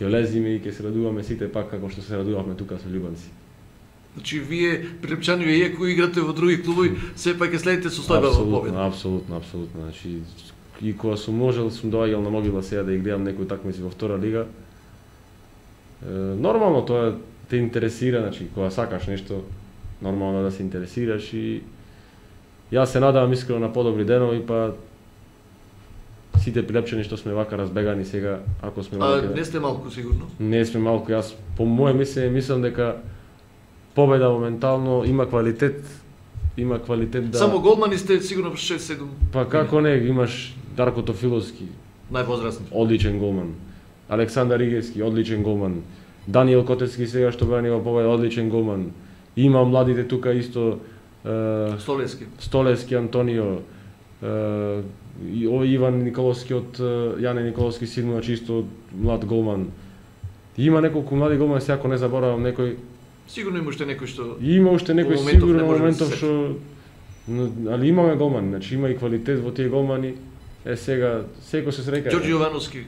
Speaker 2: ќе влезиме и ќе се радуваме сите пак како што се радувавме тука со љубанци.
Speaker 1: Значи вие Прилепчани иако играте во други клубови, сепак ќе следите состојба во Победа.
Speaker 2: Апсолутно. Значи и кога сум можел сум доаѓал на Могила сега да ги гледам некои такмици во втора лига. Нормално тоа те интересира, значи кога сакаш нешто, нормално да се интересираш и јас се надевам искрено на подобри денови, па сите Прилепчани што сме вака разбегани сега, ако сме вака...
Speaker 1: не сте малку сигурно?
Speaker 2: Не сме малку, јас по моје мислење мислам дека Победа моментално има квалитет да...
Speaker 1: Само голмани сте сигурно 6-7.
Speaker 2: Па како не, имаш Дарко Тофиловски,
Speaker 1: Највозрастни.
Speaker 2: одличен голман. Александар Игевски, одличен голман. Даниел Котевски сега што брани во Победа, одличен голман. Има младите тука исто Столевски Антонио, Иван Николовски од Јане Николовски син, значи исто млад голман. Има неколку млади голмани, сега ако не заборавам некој.
Speaker 1: Сигурно има уште некој што
Speaker 2: Има уште некој сигурно моментов што али имаме голмани, значи има и квалитет во тие голмани. Сега секој се срека. Ѓорѓе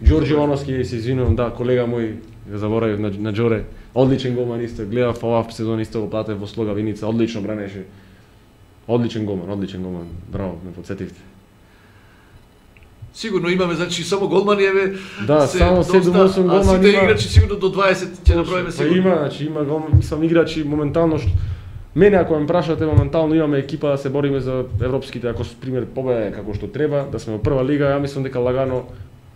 Speaker 2: Јовановски, се извинувам, да, колега мој, го заборавив на Џоре. Одличен голман исто, гледав оваа сезона исто го платев во Слога Виница, одлично бранеше. Одличен голман. Браво, ме потсетивте.
Speaker 1: Сигурно имаме, значи само голмани еве.
Speaker 2: Да, само 7-8 голмани.
Speaker 1: А сите играчи сигурно до 20 ќе наброиме сигурно.
Speaker 2: Има, значи има голмани, мислам играчи моментално што мене ако ме прашате моментално имаме екипа да се бориме за европските, ако пример Победа како што треба, да сме во прва лига, ја мислам дека лагано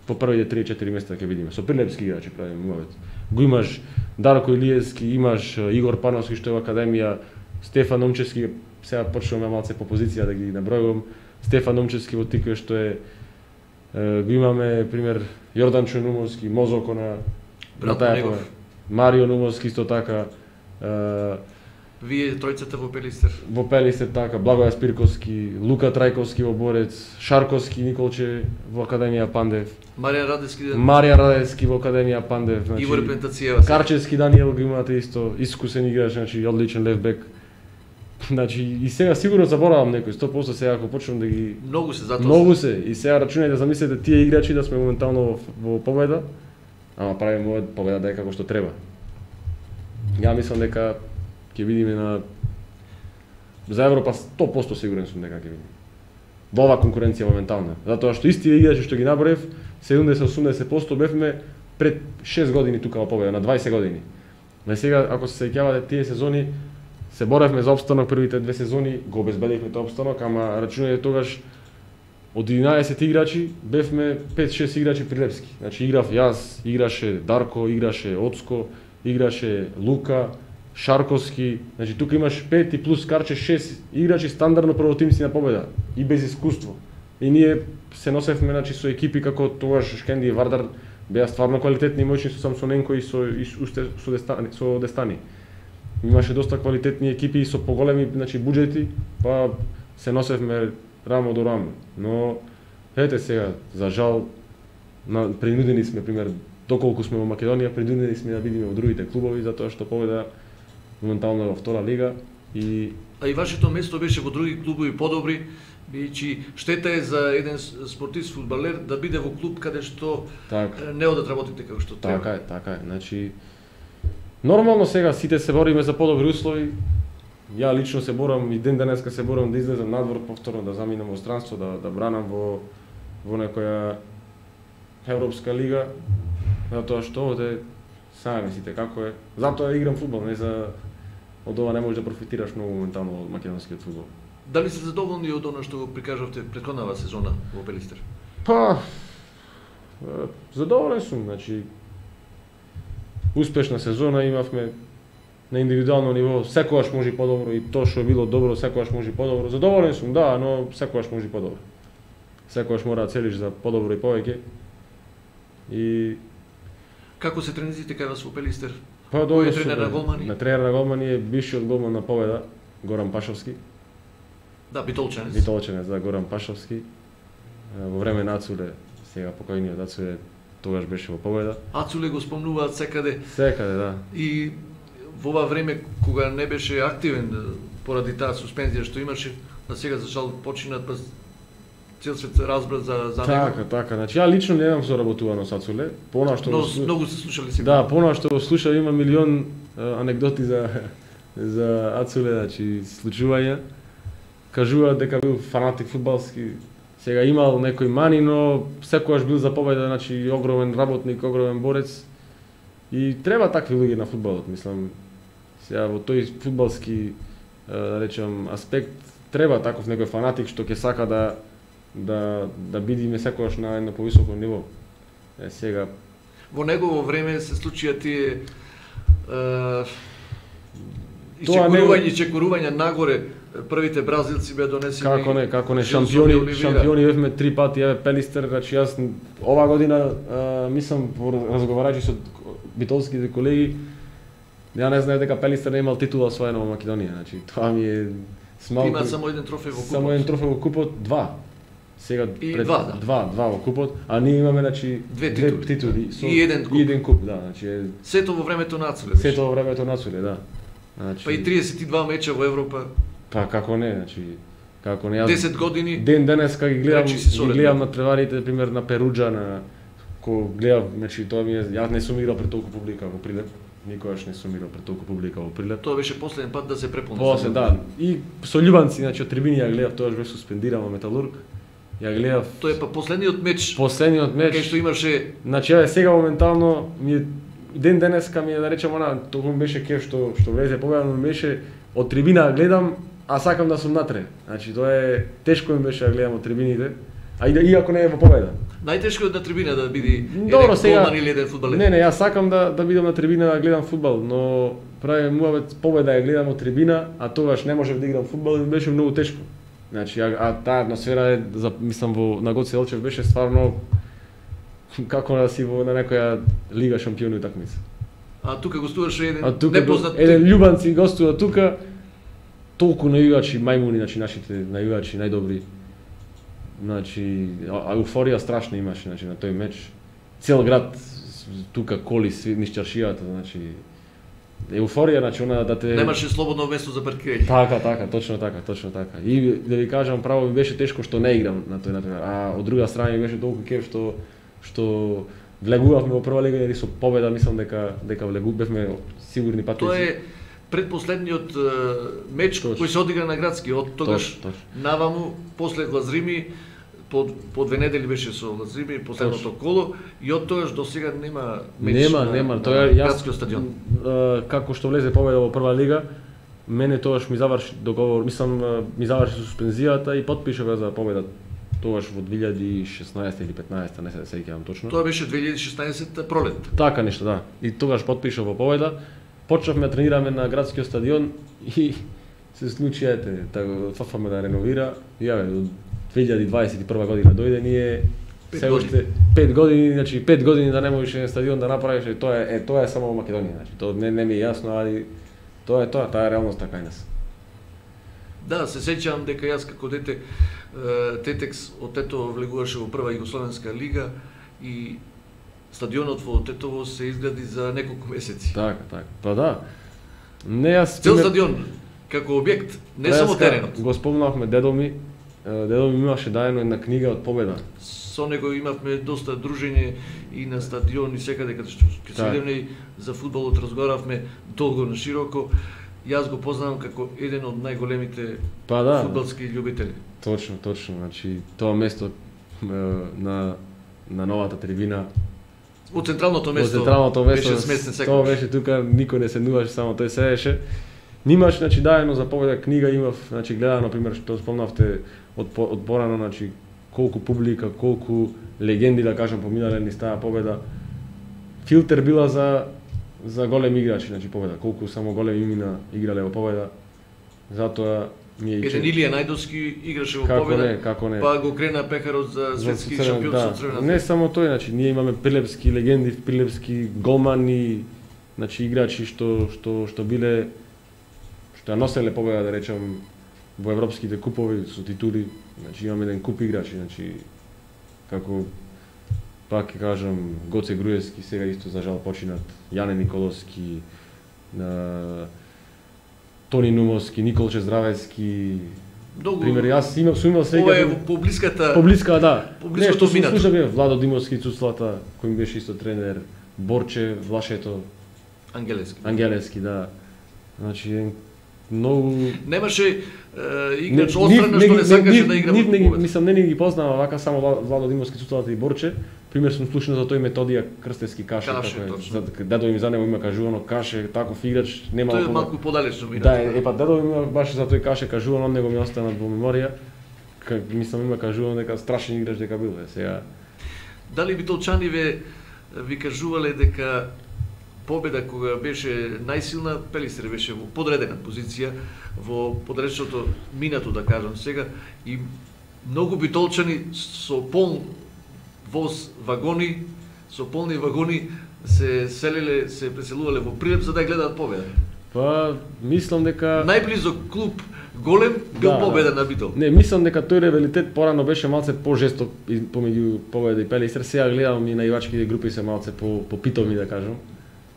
Speaker 2: по првите 3-4 места ќе видиме. Со прилепски играчи правиме мовет. Го имаш Дарко Илиевски, имаш Игор Пановски што е во академија, Стефан Номчевски, сега почнуваме малце по позиција да ги набројувам. Стефан Номчевски во Тикве што е го имаме пример Јордан Нумовски, Мозоко на таја Марио Нумовски исто така.
Speaker 1: Вие тројцата во Пелистер.
Speaker 2: Во Пелистер така, Благоја Спирковски, Лука Трајковски во Борец, Шарковски Николче во Академија Пандев. Маријан Радевски во Академија Пандев, значи
Speaker 1: Ивор Пентацијева.
Speaker 2: Карчевски Даниел го имате исто, искусен играч, значи одличен левбек. Значи и сега сигурно заборавам некој 100% сега ако почнам да ги Многу се и сега рачунајте да замислите тие играчи да сме моментално во Победа, ама правиме Победа да е како што треба. Ја мислам дека ќе видиме за Европа 100% сигурен сум дека ќе видиме. Во оваа конкуренција моментална, затоа што исти играчи што ги наброев 70-80% бевме пред 6 години тука во Победа, на 20 години. Но сега ако се сеќавате тие сезони се боревме за опстанок првите 2 сезони, го обезбедивме тој опстанок, ама рачунајте тогаш од 11 играчи бевме 5-6 играчи прилепски. Значи играв јас, играше Дарко, играше Оцко, играше Лука, Шарковски, значи тука имаш 5 и плюс Карче 6 играчи стандардно првотимци на победа и без искуство. И ние се носевме значи со екипи како тогаш Шкенди и Вардар беа стварно квалитетни моćни со Самсоненко и со Дестани. Имаше доста квалитетни екипи и со поголеми значи буџети, па се носевме рамо до рамо. Но ете сега, за жал принудени сме пример доколку сме во Македонија, принудени сме да видиме во другите клубови затоа што победа моментално во втора лига и
Speaker 1: вашето место беше во други клубови подобри, бидејќи штета е за еден спортист фудбалер да биде во клуб каде што не одат работите како што треба.
Speaker 2: Така е. Значи нормално сега сите се бориме за подобри услови. Ја лично се борам и ден денеска се борам да излезам надвор повторно, да заминам во странство, да бранам во некоја европска лига. Затоа што овде сами мислите како е. Затоа играм фудбал, не за од ова не можеш да профитираш многу моментално од македонскиот фудбал.
Speaker 1: Дали сте задоволни од она што го прикажавте претходната сезона во Пелистер?
Speaker 2: Па задоволен сум, значи успешна сезона имавме на индивидуално ниво, секогаш може и подобро и тоа што било добро, секогаш може и подобро. Задоволен сум, да, но секогаш може и подобро. Секогаш мора да целиш за подобро и повеќе. И
Speaker 1: како се тренизите кај вас во Пелистер?
Speaker 2: Па
Speaker 1: Кој е тренер на голмани?
Speaker 2: На тренер на голмани е бившиот голман на Победа, Горан Пашовски.
Speaker 1: Да, битолченец.
Speaker 2: Битолченец, да, Горан Пашовски. Во време на Ацуле, сега покојниот Ацуле, тогаш беше во Победа.
Speaker 1: Ацуле го спомнуваат секаде.
Speaker 2: Секаде, да.
Speaker 1: И во ова време кога не беше активен поради таа суспензија што имаше, а сега за жал починат па цел свет разбра за него.
Speaker 2: Така. Значи ја лично немам соработувано со Ацуле, понаа што
Speaker 1: многу се слушали сигурно.
Speaker 2: Да, понаа што го слушав има милион анекдоти за Ацуле, значи случувања. Кажуваат дека бил фанатик фудбалски, сега имал некои мани, но секогаш бил за победа, значи огромен работник, огромен борец. И треба такви луѓе на фудбалот, мислам. Сега во тој фудбалски да речем аспект треба таков некој фанатик што ќе сака да бидиме секогаш на едно повисоко ниво. Сега
Speaker 1: во негово време се случија тие чекорувања нагоре. Првите бразилци беа донесени.
Speaker 2: Како не, шампиони бевме 3 пати, еве Пелистер, значи јас ова година мислам разговарајќи со битолските колеги, ја не знаев дека Пелистер не имал титула освоена во Македонија, значи тоа ми е смалку.
Speaker 1: Има само еден трофеј во купот.
Speaker 2: Само еден трофеј во купот, два. Сега
Speaker 1: пред
Speaker 2: два во купот, а ние имаме значи две титули
Speaker 1: и еден
Speaker 2: куп, да, значи
Speaker 1: сето во времето на Ацуле.
Speaker 2: Сето во времето на Ацуле, да.
Speaker 1: Значи па и 32 меча во Европа.
Speaker 2: Па како не, значи
Speaker 1: 10 години.
Speaker 2: Ден денеска ги гледам на треварите, пример на Перуџа, на кога гледав, значи тоа ми е, јас не сум играл пред толку публика во Прилеп. Никогаш не сум играл пред толку публика во Прилеп.
Speaker 1: Тоа беше последен пат да се преполни.
Speaker 2: После, да. И со љубанци, значи од трибини ја гледав, тоа беше суспендирано Металург. Ја гледав.
Speaker 1: Тоа е па последниот меч.
Speaker 2: Кај
Speaker 1: што имаше.
Speaker 2: Значи сега моментално ми е ден денеска ми е да речем она, тоа беше кеф што влезе победа, но беше од трибина гледам, а сакам да сум натре. Значи тоа е тешко ми беше да гледам од трибините, а иако не е во победа.
Speaker 1: Најтешко е на трибина да биде
Speaker 2: еден
Speaker 1: голман или еден фудбалер.
Speaker 2: Не, јас сакам да бидам на трибина да гледам фудбал, но прави муавет победа ја гледам од трибина, а тогаш не можев да играм фудбал и ми беше многу тешко. Значи, а таа атмосфера е, мислам, на Гоце Делчев беше стварно како да си на некоја лига шампиони утакмица.
Speaker 1: А тука гостуваше еден непознат
Speaker 2: еден љубанци гостува тука, толку најувачи мајмуни, значи нашите најувачи, најдобри. Значи, еуфорија страшна имаше, значи на тој меч. Цел град тука коли низ чаршијата, значи еуфорија, значи она да те
Speaker 1: немаше слободно место за паркирање.
Speaker 2: Така, точно така. И да ви кажам право ми беше тешко што не играм на тој натпревар, а од друга страна ми беше толку кеф што влегувавме во прва лига и со победа мислам дека бевме сигурни патници.
Speaker 1: Тоа е предпоследниот меч кој се одигра на градски, од тогаш наваму после Лазрими по 2 недели беше со Лазрими последното коло и од тогаш до сега нема меч.
Speaker 2: Нема, тоа е
Speaker 1: градскиот стадион.
Speaker 2: Како што влезе победа во прва лига, мене тогаш ми заврши договор, мислам ми заврши суспензијата и потпишав за победа тогаш во 2016 или 15, не се сеќавам точно.
Speaker 1: Тоа беше 2016 пролет.
Speaker 2: Така нешто, да. И тогаш потпишав во победа почнавме да тренираме на градскиот стадион и се случи фафаме да реновира. Јаве, до 2021 година дојде, ние се уште 5 години, значи 5 години да не можеш еден стадион да направиш, и тоа е само во Македонија, значи тоа не ми е јасно, али тоа е реалноста кај нас.
Speaker 1: Да, се сеќавам дека јас како дете Тетекс од Тетово влегуваше во прва југословенска лига и стадионот во Тетово се изгради за неколку месеци.
Speaker 2: Така. Па да. Не јас
Speaker 1: цел стадион како објект, не само теренот.
Speaker 2: Го спомнавме дедо ми имаше дајано една книга од Победа.
Speaker 1: Со него имавме доста дружење и на стадион и секаде каде што се видевме за фудбалот разговаравме долго на широко. Јас го познавам како еден од најголемите фудбалски љубители.
Speaker 2: Точно, значи тоа место на новата трибина,
Speaker 1: во централното место беше сместен секој.
Speaker 2: Тоа беше тука, никој не седнуваше, само тој седеше. Нимаш, значи, дајано за Победа книга, имав, значи, гледано, например, што спомнавте од порано, значи, колку публика, колку легенди, да кажам, поминале низ таа Победа. Филтер била за големи играчи, значи, Победа, колку само големи имена играле во Победа. Затоа ми е
Speaker 1: еден Илија Најдовски играше во Победа.
Speaker 2: Како не.
Speaker 1: Па го крена пехарот за светски шампион со Црвена.
Speaker 2: Не само тој, значи, ние имаме прилепски легенди, прилепски голмани, значи, играчи што биле, што ја носеле Победа, да речам, во европските купови со титули. Значи, имаме еден куп играчи, значи, како, пак ќе кажам, Гоце Груевски, сега исто за жал починат, Јане Николовски, Тони Нумовски, Николче Здравецки. Пример, јас сум имал сега...
Speaker 1: Ова е поблиската...
Speaker 2: Поблиска, да.
Speaker 1: Не, што
Speaker 2: се слушаме, Владо Димовски, Цуцлата, кој ми беше исто тренер, Борче, Влашето. Ангелески, да. Значи, многу...
Speaker 1: Немаше играч острана што не сакаше да игра во Победа.
Speaker 2: Мислам, не ги познава вака само Владо Димовски, Цуцлата и Борче. Пример сум слушнал за тој Методија Крстевски Каше, дедо ми за него има кажувано Каше, таков играч, нема.
Speaker 1: Тој е малку подалечно ми.
Speaker 2: Да, па дедо ми баш за тој Каше кажувано, од него ми остана во меморија. Мислам има кажувано дека страшен играч дека бил, сега.
Speaker 1: Дали битолчани ви кажувале дека Победа кога беше најсилна, Пелистер беше во подредена позиција во подречното минато, да кажам сега, и многу битолчани со полн воз вагони, со полни вагони се селеле, се преселувале во Прилеп за да гледаат Победа.
Speaker 2: Па, мислам дека
Speaker 1: најблизо клуб голем бил Победа на Битол.
Speaker 2: Не, мислам дека тој ревалитет порано беше малце пожесток помеѓу Победа и Пелистер. Сега гледам и наивачките групи се малце попитоми, да кажам.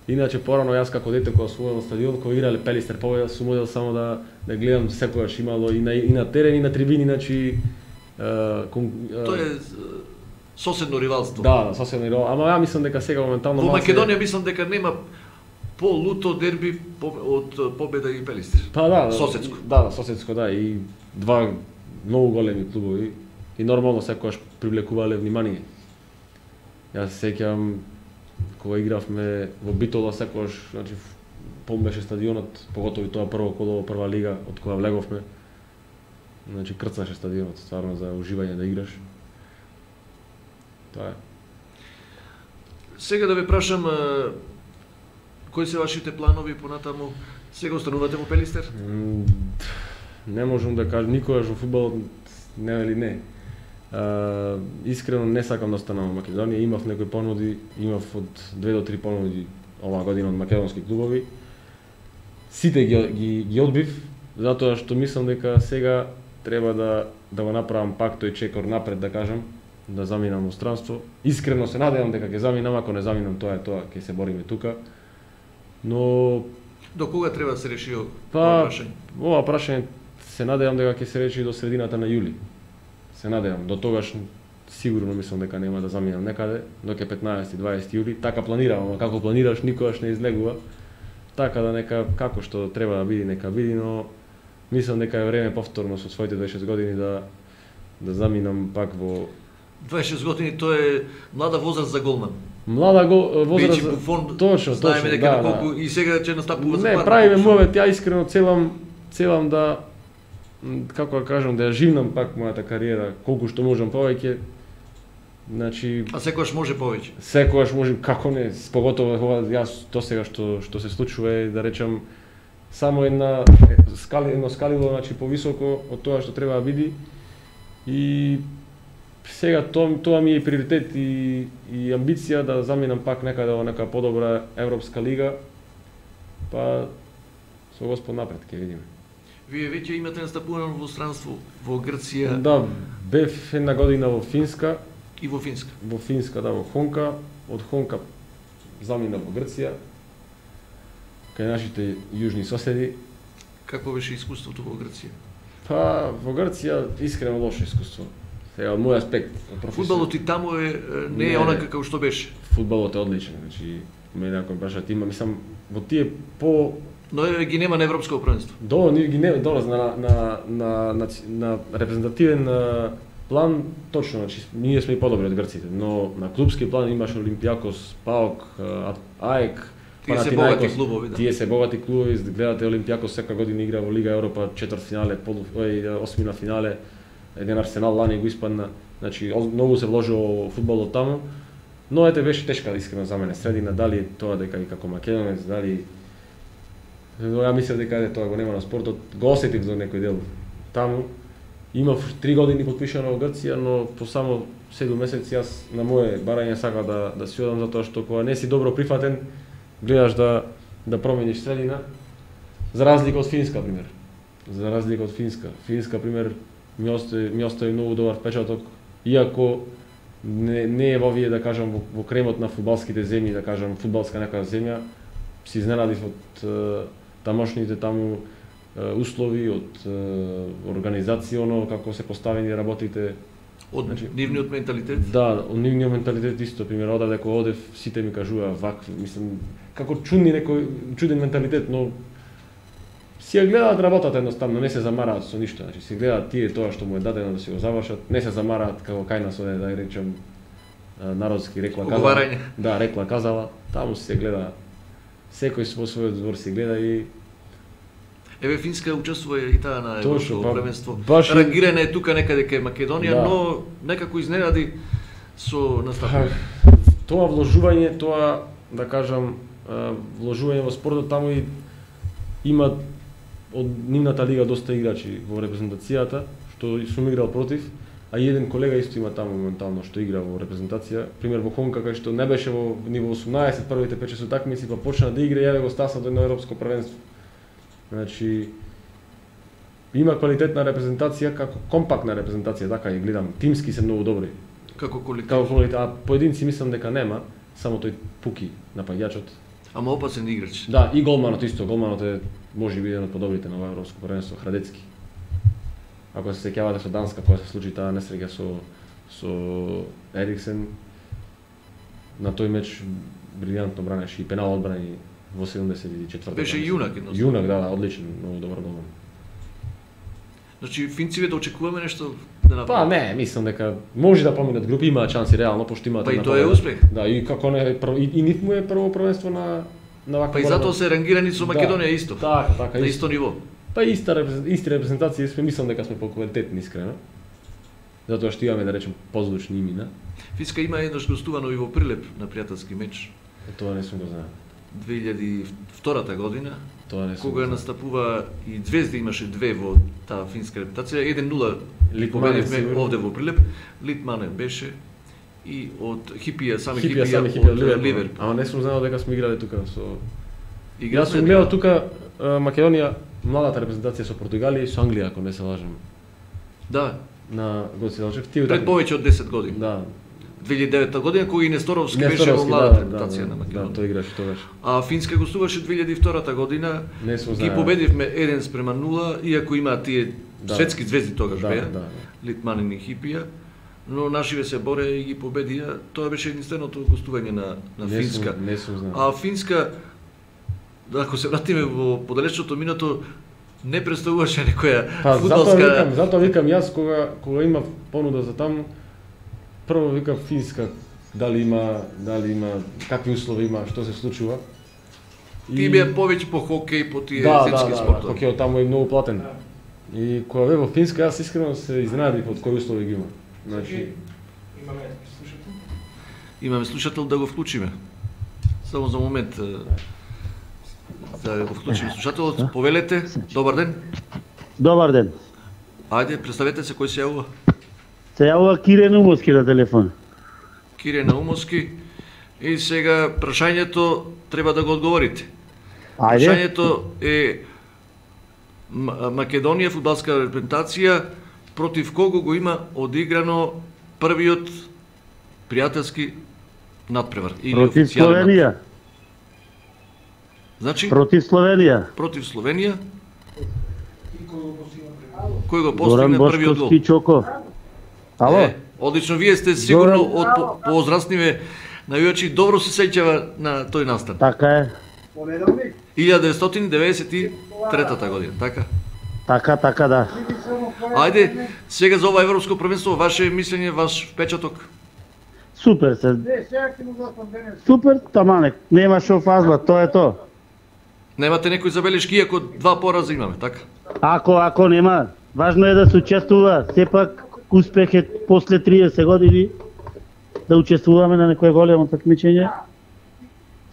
Speaker 2: Иначе порано јас како дете кога освоил стадион, кога играле Пелистер Победа, сум одел само да гледам секогаш имало и на терен и на трибини, значи
Speaker 1: тоа е соседно ривалство.
Speaker 2: Да, соседно ривалство. Ама ја мислам дека сега моментално
Speaker 1: во Македонија мислам дека нема по-луто дерби од Победа и Пелистер.
Speaker 2: Па да,
Speaker 1: соседско.
Speaker 2: Да, соседско, да, и два многу големи клубови и нормално секогаш привлекувале внимание. Јас се сеќавам кога игравме во Битола секогаш, значи полн беше стадионот, поготово и тоа прво коло во прва лига од кога влеговме. Значи крцнаше стадионот, стварно за уживање да играш. Тоа е.
Speaker 1: Сега да ве прашам, кои се вашите планови понатаму? Сега останувате во Пелистер?
Speaker 2: Не можам да кажам, никогаш во фудбалот не или не. Искрено не сакам да останам во Македонија, имав некои понуди, имав од 2 до 3 понуди оваа година од македонски клубови. Сите ги одбив, затоа што мислам дека сега треба да го направам пак тој чекор напред, да кажам, да заминам во странство. Искрено се надевам дека ќе заминам, ако не заминам тоа, ќе се бориме тука. Но
Speaker 1: до кога треба да се реши ова прашање?
Speaker 2: Ова прашање се надевам дека ќе се реши до средината на јули. Се надевам, до тогаш сигурно мислам дека нема да заминам некаде, доке 15-20 јули. Така планирам, ама како планираш никогаш не излегува. Така да нека како што треба да биде, нека биде, но мислам дека е време повторно со своите 26 години да заминам пак во
Speaker 1: 26 години, тоа е млада возраст за голман.
Speaker 2: Млада возраст
Speaker 1: за Буфон.
Speaker 2: Точно,
Speaker 1: знаеме дека колку и сега ќе настапува за
Speaker 2: пар. Не, правиме муавет, ја искрено целам да, како да кажам, да ја живнам пак мојата кариера колку што можам повеќе. Значи,
Speaker 1: А секогаш може повеќе.
Speaker 2: секогаш може, како не, поготово кога јас до сега што се случува е, да речам, само едно скалило, значи повисоко од тоа што треба да биде. И сега тоа ми е приоритет и амбиција да заминам пак некаде во нека подобра европска лига. Па со Господ напред ќе видиме.
Speaker 1: Вие веќе имате настапувано во странство во Грција.
Speaker 2: Да, бев една година во Финска.
Speaker 1: И во Финска.
Speaker 2: Во Финска, да, во Хонка. Од Хонка замина во Грција. Кај нашите јужни соседи.
Speaker 1: Какво беше искуството во Грција?
Speaker 2: Па, во Грција искрено лошо искуство. Сега, од мој аспект.
Speaker 1: Фудбалот и таму не е онака како што беше.
Speaker 2: Фудбалот е одличен, значи, мене ако прашат, има, мислам, во тие по...
Speaker 1: Но ги нема на европско првенство.
Speaker 2: Ги нема, долаз на репрезентативен план, точно, значи, ние сме и подобри од грците, но на клубски план имаш Олимпијакос, ПАОК, АЕК,
Speaker 1: Тие се богати клубови, да.
Speaker 2: Тие се богати клубови, гледате Олимпијакос сека година игра во Лига Европа, четвртфинале, осмина финале, еден Арсенал лани го испадна, значи многу се вложи во фудбалот таму, но ете беше тешка искрено за мене средина, дали тоа дека и како македонец, дали ја мислев дека тоа го нема на спортот, го осетив до некој дел таму. Имав 3 години потпишано во Грција, но по само 7 месеци јас на моje барање сака да си одам затоа што кога не си добро прифатен, гледаш да промениш средина, за разлика од Финска, пример. За разлика од Финска. Финска, пример, ми остави многу добар впечаток, иако не е во вие, да кажам, во кремот на фудбалските земји, да кажам, фудбалска нека земја, се изненадив од тамошните таму услови, од организацијно, како се поставени работите.
Speaker 1: Од нивниот менталитет?
Speaker 2: Да, од нивниот менталитет исто, пример, одеве кога одев, сите ми кажува вакви, мислам, како чуден менталитет, но си ја гледаат работата едноставно, не се замараат со ништо, значи си гледаат тие тоа што му е дадено да си го завршат, не се замараат како кај нас оде, да речем, народски рекла казала. Да, рекла казала, таму се гледа, секој во својот двор си гледа и
Speaker 1: Еве Финска учествува и таа на европско првенство.
Speaker 2: Рангирана
Speaker 1: е тука некаде кај Македонија, да. Но некако изненади со настапување.
Speaker 2: Тоа вложување, тоа да кажам, вложување во спортот таму и има од нивната лига доста играчи во репрезентацијата, што сум играл против, а и еден колега исто има таму моментално што игра во репрезентација, пример во Хонка кај што не беше во ниво 18 првите 5-6 такмици, па почна да игра и јаве го стаса до едно европско првенство. Значи има квалитетна репрезентација, како компактна репрезентација, така ја гледам, тимски се многу добри.
Speaker 1: Како колектив.
Speaker 2: А поединци мислам дека нема, само тој Пуки напаѓачот.
Speaker 1: Ама опасен играч.
Speaker 2: Да, и голманот исто, голманот е можеби еден од подобрите на европско првенство, Храдецки. Ако се сеќавате со Данска, кога се случи таа несреќа со Ериксен, на тој меч брилјантно бранеше и пенал одбрани во 74-та.
Speaker 1: Беше јунак едноставно.
Speaker 2: Јунак, да, одличен, многу добар голман.
Speaker 1: Значи финците да очекуваме нешто да направат?
Speaker 2: Па не, мислам дека може да поминат групи, имаат шанси реално, пошто имаат.
Speaker 1: Па и тоа е успех.
Speaker 2: Да, и како не и нив му е прво првенство на ваква.
Speaker 1: Па и затоа се рангирани со Македонија исто.
Speaker 2: Така,
Speaker 1: на исто ниво.
Speaker 2: Па исти репрезентации сме, мислам дека сме поквалитетни искрено. Затоа што имаме, да речем, позвучни имена.
Speaker 1: Финска има еднаш гостувано и во Прилеп на пријателски меч.
Speaker 2: Тоа не сум го знаел.
Speaker 1: 2002 година, кога настапува и Звезда имаше две во таа финска репутација, 1-0 победивме овде во Прилеп, Литмане беше и од Хипија, сами Хипија од Ливерпул.
Speaker 2: Ама не сум знаел дека сме играле тука со... Јас сум гледал тука Македонија, младата репрезентација со Португалија и со Англија, ако не се лажам.
Speaker 1: Да.
Speaker 2: На Гоце Делчев.
Speaker 1: Пред повеќе од 10 години.
Speaker 2: Да.
Speaker 1: 2009 година, кој и Несторовски беше во младата репутација на Македонија.
Speaker 2: Да, тој играше тогаш.
Speaker 1: А Финска гостуваше 2002 година. Ги победивме 1-0, иако имаат тие светски звезди тогаш беа, Литманин и Хипија, но нашиве се боре и ги победија. Тоа беше единственото гостување на Финска.
Speaker 2: Не сум знал.
Speaker 1: А Финска, ако се вратиме во подалечното минато, не представуваше некоја фудбалска...
Speaker 2: Затоа викам јас кога има понуда за таму, прво викам Финска, дали има, какви услови има, што се случува.
Speaker 1: Ти беа повеќе по хокеј, по тие земски спортови.
Speaker 2: Да, хокејот таму е многу платен. И кога бе во Финска, јас искрено се изненадив од кои услови ги има. Значи,
Speaker 1: Имаме слушател да го вклучиме. Само за момент да го вклучиме слушателот. Повелете, добар ден.
Speaker 3: Добар ден.
Speaker 1: Ајде, представете се, кој се јавува?
Speaker 3: Се јавува Кире Наумовски на телефон.
Speaker 1: Кире Наумовски. И сега прашањето треба да го одговорите.
Speaker 3: Ајде.
Speaker 1: Прашањето е Македонија фудбалска репрезентација против кого го има одиграно првиот пријателски надпревар или
Speaker 3: Против
Speaker 1: официјален
Speaker 3: Словенија.
Speaker 1: надпревар. Значи
Speaker 3: Против Словенија.
Speaker 1: против Словенија. Кој го
Speaker 3: Зоран
Speaker 1: постигна првиот гол?
Speaker 3: Бошковски Чоко. Ало?
Speaker 1: Одлично, вие сте сигурно
Speaker 3: Зоран-
Speaker 1: од поозрастниве навијачи, добро се сеќава на тој настан.
Speaker 3: Така е.
Speaker 1: 1993 година, така?
Speaker 3: Така да.
Speaker 1: Ајде, сега за ова европско првенство, ваше мислење, ваш впечаток?
Speaker 3: Супер се. Супер, тамане. Нема шо фазла, тоа е тоа.
Speaker 1: Немате некои забелешки, иако два пораза имаме, така?
Speaker 3: Ако нема, важно е да се учествува. Сепак успех е после 30 години да учествуваме на некое големо такмичење.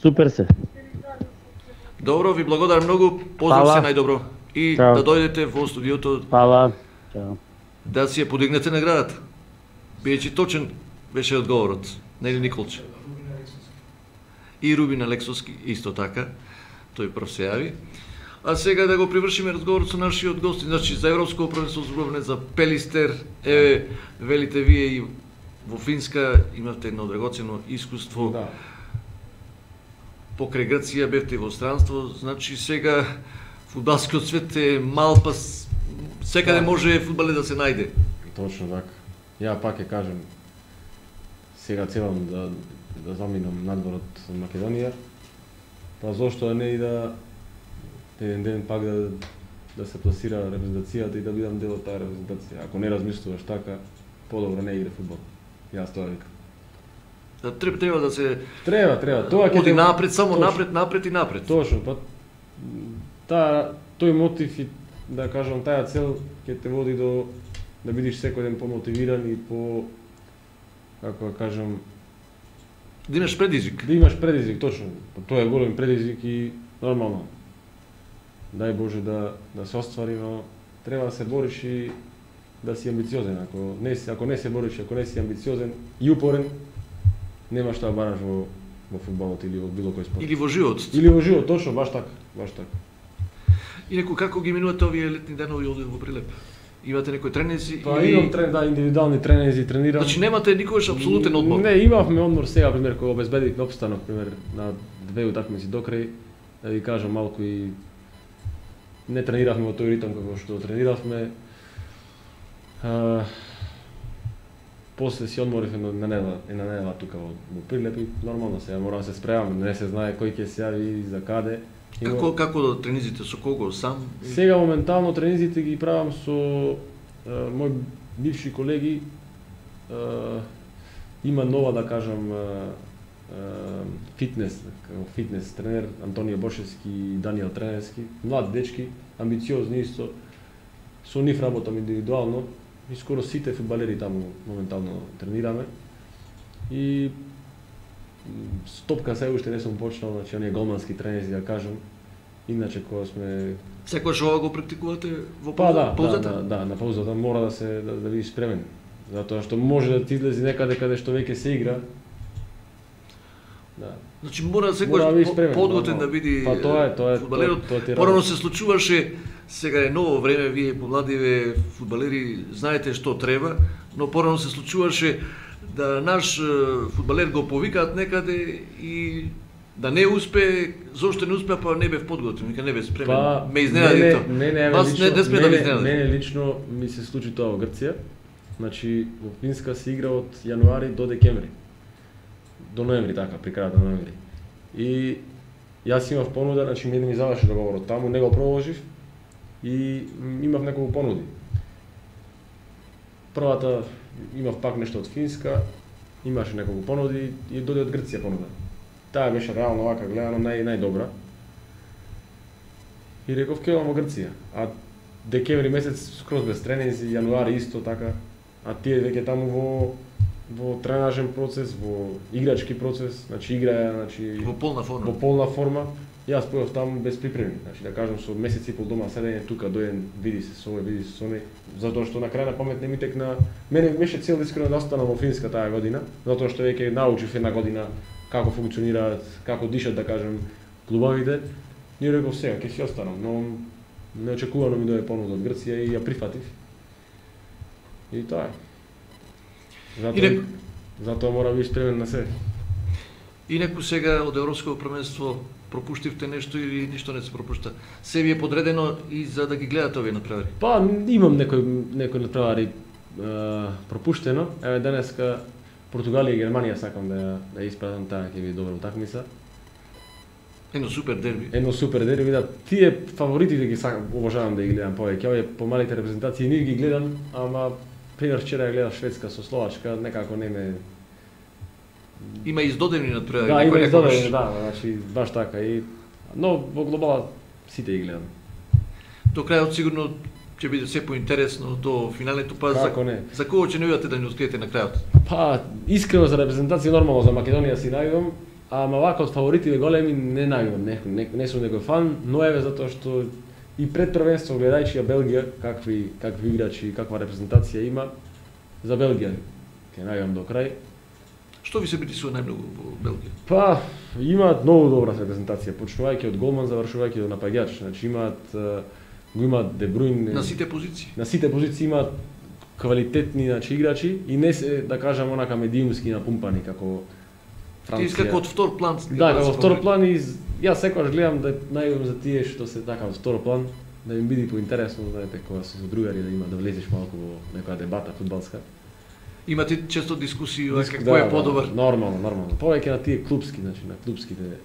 Speaker 3: Супер се.
Speaker 1: Добро, ви благодарам многу, поздрав
Speaker 3: Фала.
Speaker 1: се најдобро. И
Speaker 3: Чао.
Speaker 1: да дојдете во студиото
Speaker 3: Фала. Чао.
Speaker 1: да си ја подигнете наградата. Бијачи точен беше одговорот, нели Николче? И Рубин Алексовски исто така, тој прв се јави. А сега да го привршиме разговорот со нашиот гости, значи за европско првенство зборуваме за Пелистер, еве велите вие и во Финска имавте едно драгоцено искуство.
Speaker 2: Да.
Speaker 1: Покрај Грција бевте во странство, значи сега фудбалскиот свет е мал, па секаде
Speaker 2: Да.
Speaker 1: може фудбале да се најде.
Speaker 2: Точно така. Ја пак ќе кажем, сега целам да заминам надвор од Македонија, па зошто не и да еден ден пак да се пласира репрезентацијата и да бидам дел од таа репрезентација. Ако не размислуваш така, подобро не игре фудбал. Јас тоа викам.
Speaker 1: Треба да се
Speaker 2: Треба. Тоа ќе
Speaker 1: оди
Speaker 2: те-
Speaker 1: напред, само
Speaker 2: Точно.
Speaker 1: напред и напред.
Speaker 2: Точно, па тој мотив и да кажам таа цел ќе те води до да бидиш секој ден помотивиран и по како да кажам
Speaker 1: Да имаш предизвик.
Speaker 2: да имаш предизвик, точно. Па тоа е голем предизвик и нормално. Дај Боже да се оствари, но треба да се бориш и да си амбициозен. Ако не се бориш, ако не си амбициозен и упорен, нема што да бараш во фудбалот или во било кој спорт.
Speaker 1: Или во животот.
Speaker 2: Или во живот, точно, баш така.
Speaker 1: Инаку како ги минувате овие летни денови овде во Прилеп? Имате некои тренинзи
Speaker 2: Па
Speaker 1: или
Speaker 2: имам индивидуални тренинзи, тренирам.
Speaker 1: Значи немате никогаш апсолутен одмор.
Speaker 2: Не, имавме одмор сега, пример, кога обезбедивме опстанок, пример, на две утакмици до крај, да ви кажам малку и не трениравме во тој ритм како што трениравме. После си одморивме на недела тука во Прилеп и нормално сега мора да се спремаме, не се знае кој ќе се јави и за каде.
Speaker 1: Како тренизите, со кого, сам?
Speaker 2: Сега моментално тренизите ги правам со мои бивши колеги. Има нова, да кажам, фитнес тренер Антонио Бошевски и Даниел Тренерски, млади дечки, амбициозни исто. Со нив работам индивидуално и скоро сите фудбалери таму моментално тренираме. И стопка се уште не сум почнал, значи оние голмански тренери, да кажам. Иначе кога сме
Speaker 1: Секогаш ова го практикувате во
Speaker 2: па
Speaker 1: паузата?
Speaker 2: да, на паузата мора да бидеш спремен. Затоа што може да ти излези некаде каде што веќе се игра. Да.
Speaker 1: Значи мора
Speaker 2: Мора да
Speaker 1: секогаш
Speaker 2: бидеш спремен,
Speaker 1: подготвен
Speaker 2: нормално.
Speaker 1: да биде
Speaker 2: Па тоа е
Speaker 1: фудбалерот.
Speaker 2: тоа ти
Speaker 1: Порано
Speaker 2: работа.
Speaker 1: се случуваше, сега е ново време, вие помладиве фудбалери знаете што треба, но порано се случуваше да наш фудбалер го повикаат некаде и да не успее, зошто не успеа, па не бев подготвен, вика не бев спремен.
Speaker 2: Па,
Speaker 1: ме изненади тоа.
Speaker 2: Не,
Speaker 1: Вас не сме да ви изненади.
Speaker 2: Мене лично ми се случи тоа во Грција. Значи, во Финска се игра од јануари до декември. До ноември, така, при крајот на ноември. И јас имав понуда, значи ми заврши договорот таму, не го продолжив и имав неколку понуди. Првата имав пак нешто од Финска, имаше неколку понуди и дојде од Грција понуда. Таа беше реално вака гледано најдобра. И реков ќе одам во Грција. А декември месец скроз без тренинзи, јануари исто така. А тие веќе таму во тренажен процес, во играчки процес, значи играе, значи
Speaker 1: Во полна форма.
Speaker 2: Во полна форма. Јас појав таму без припреми, значи да кажам со месец и пол дома седење тука доен, види се со овој, види се со оној, затоа што на крај на памет не ми текна. Мене беше цел искрено да останам во Финска таа година, затоа што веќе научив една година како функционираат, како дишат да кажам клубовите. Ни реков сега ќе си останам, но неочекувано ми дојде понуда од Грција и ја прифатив. И тоа е. Затоа мора да бидеш спремен на се.
Speaker 1: Инаку сега од Европското првенство пропуштивте нешто или ништо не се пропушта? Се ви е подредено и за да ги гледате овие надпревари?
Speaker 2: Па имам некои надпревари пропуштено. Еве денеска Португалија и Германија сакам да испратам, таа ќе биде добра утакмица.
Speaker 1: Едно супер дерби.
Speaker 2: Едно супер дерби, да. Тие фаворитите ги сакам, обожавам да ги гледам повеќе. Овие помалите репрезентации не ги гледам, ама пример вчера ја гледав Шведска со Словачка, некако не ме.
Speaker 1: Има издодени надпревари.
Speaker 2: Да, има издодени, да, значи баш така и но во глобала сите ги гледам.
Speaker 1: До крајот сигурно ќе биде се поинтересно до финалето, па за кого ќе најдете да ни откриете на крајот?
Speaker 2: Па искрено за репрезентација нормално за Македонија си најдам, ама вака од фаворитите големи не најдам, не сум некој фан, но еве затоа што и пред првенство гледајќи ја Белгија, какви играчи, каква репрезентација има, за Белгија ќе најдам до крај.
Speaker 1: Што ви се притисува најмногу во Белгија?
Speaker 2: Па, имаат многу добра репрезентација, почнувајќи од голман, завршувајќи до напаѓач. Значи имаат Де Бруйн
Speaker 1: на сите позиции.
Speaker 2: На сите позиции имаат квалитетни играчи и не се да кажам онака медиумски напумпани како Франција.
Speaker 1: Ти како од втор план.
Speaker 2: Да, како втор план и јас секогаш гледам да најдам за тие што се така од втор план, да им биде поинтересно, знаете, кога се со другари да има да влезеш малку во некоја дебата фудбалска.
Speaker 1: Имате често дискусии кој е подобар?
Speaker 2: Нормално. Повеќе на тие клупски, значи на клупските.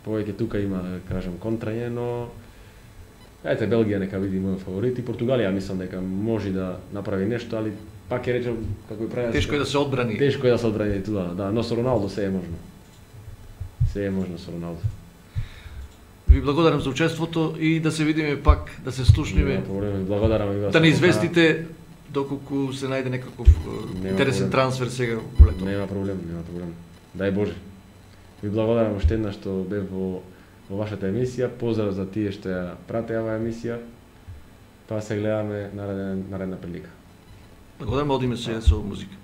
Speaker 2: Повеќе тука има, да кажам, контрање, но ете Белгија нека биде мој фаворит и Португалија мислам дека може да направи нешто, али пак ќе речам како и прави.
Speaker 1: Тешко е да се одбрани.
Speaker 2: Тешко е да се одбрани тука, да, но со Роналдо се е можно. Се е можно со Роналдо.
Speaker 1: Ви благодарам за учеството и да се видиме пак, да се слушниме.
Speaker 2: Благодарам и вас.
Speaker 1: Да не известите доколку се најде некаков интересен трансфер сега во лето.
Speaker 2: Нема проблем. Дај Боже. Ви благодарам уште еднаш што бев во вашата емисија. Поздрав за тие што ја пратеа оваа емисија. Па се гледаме наредна прилика.
Speaker 1: Благодарам, одиме сега со музика.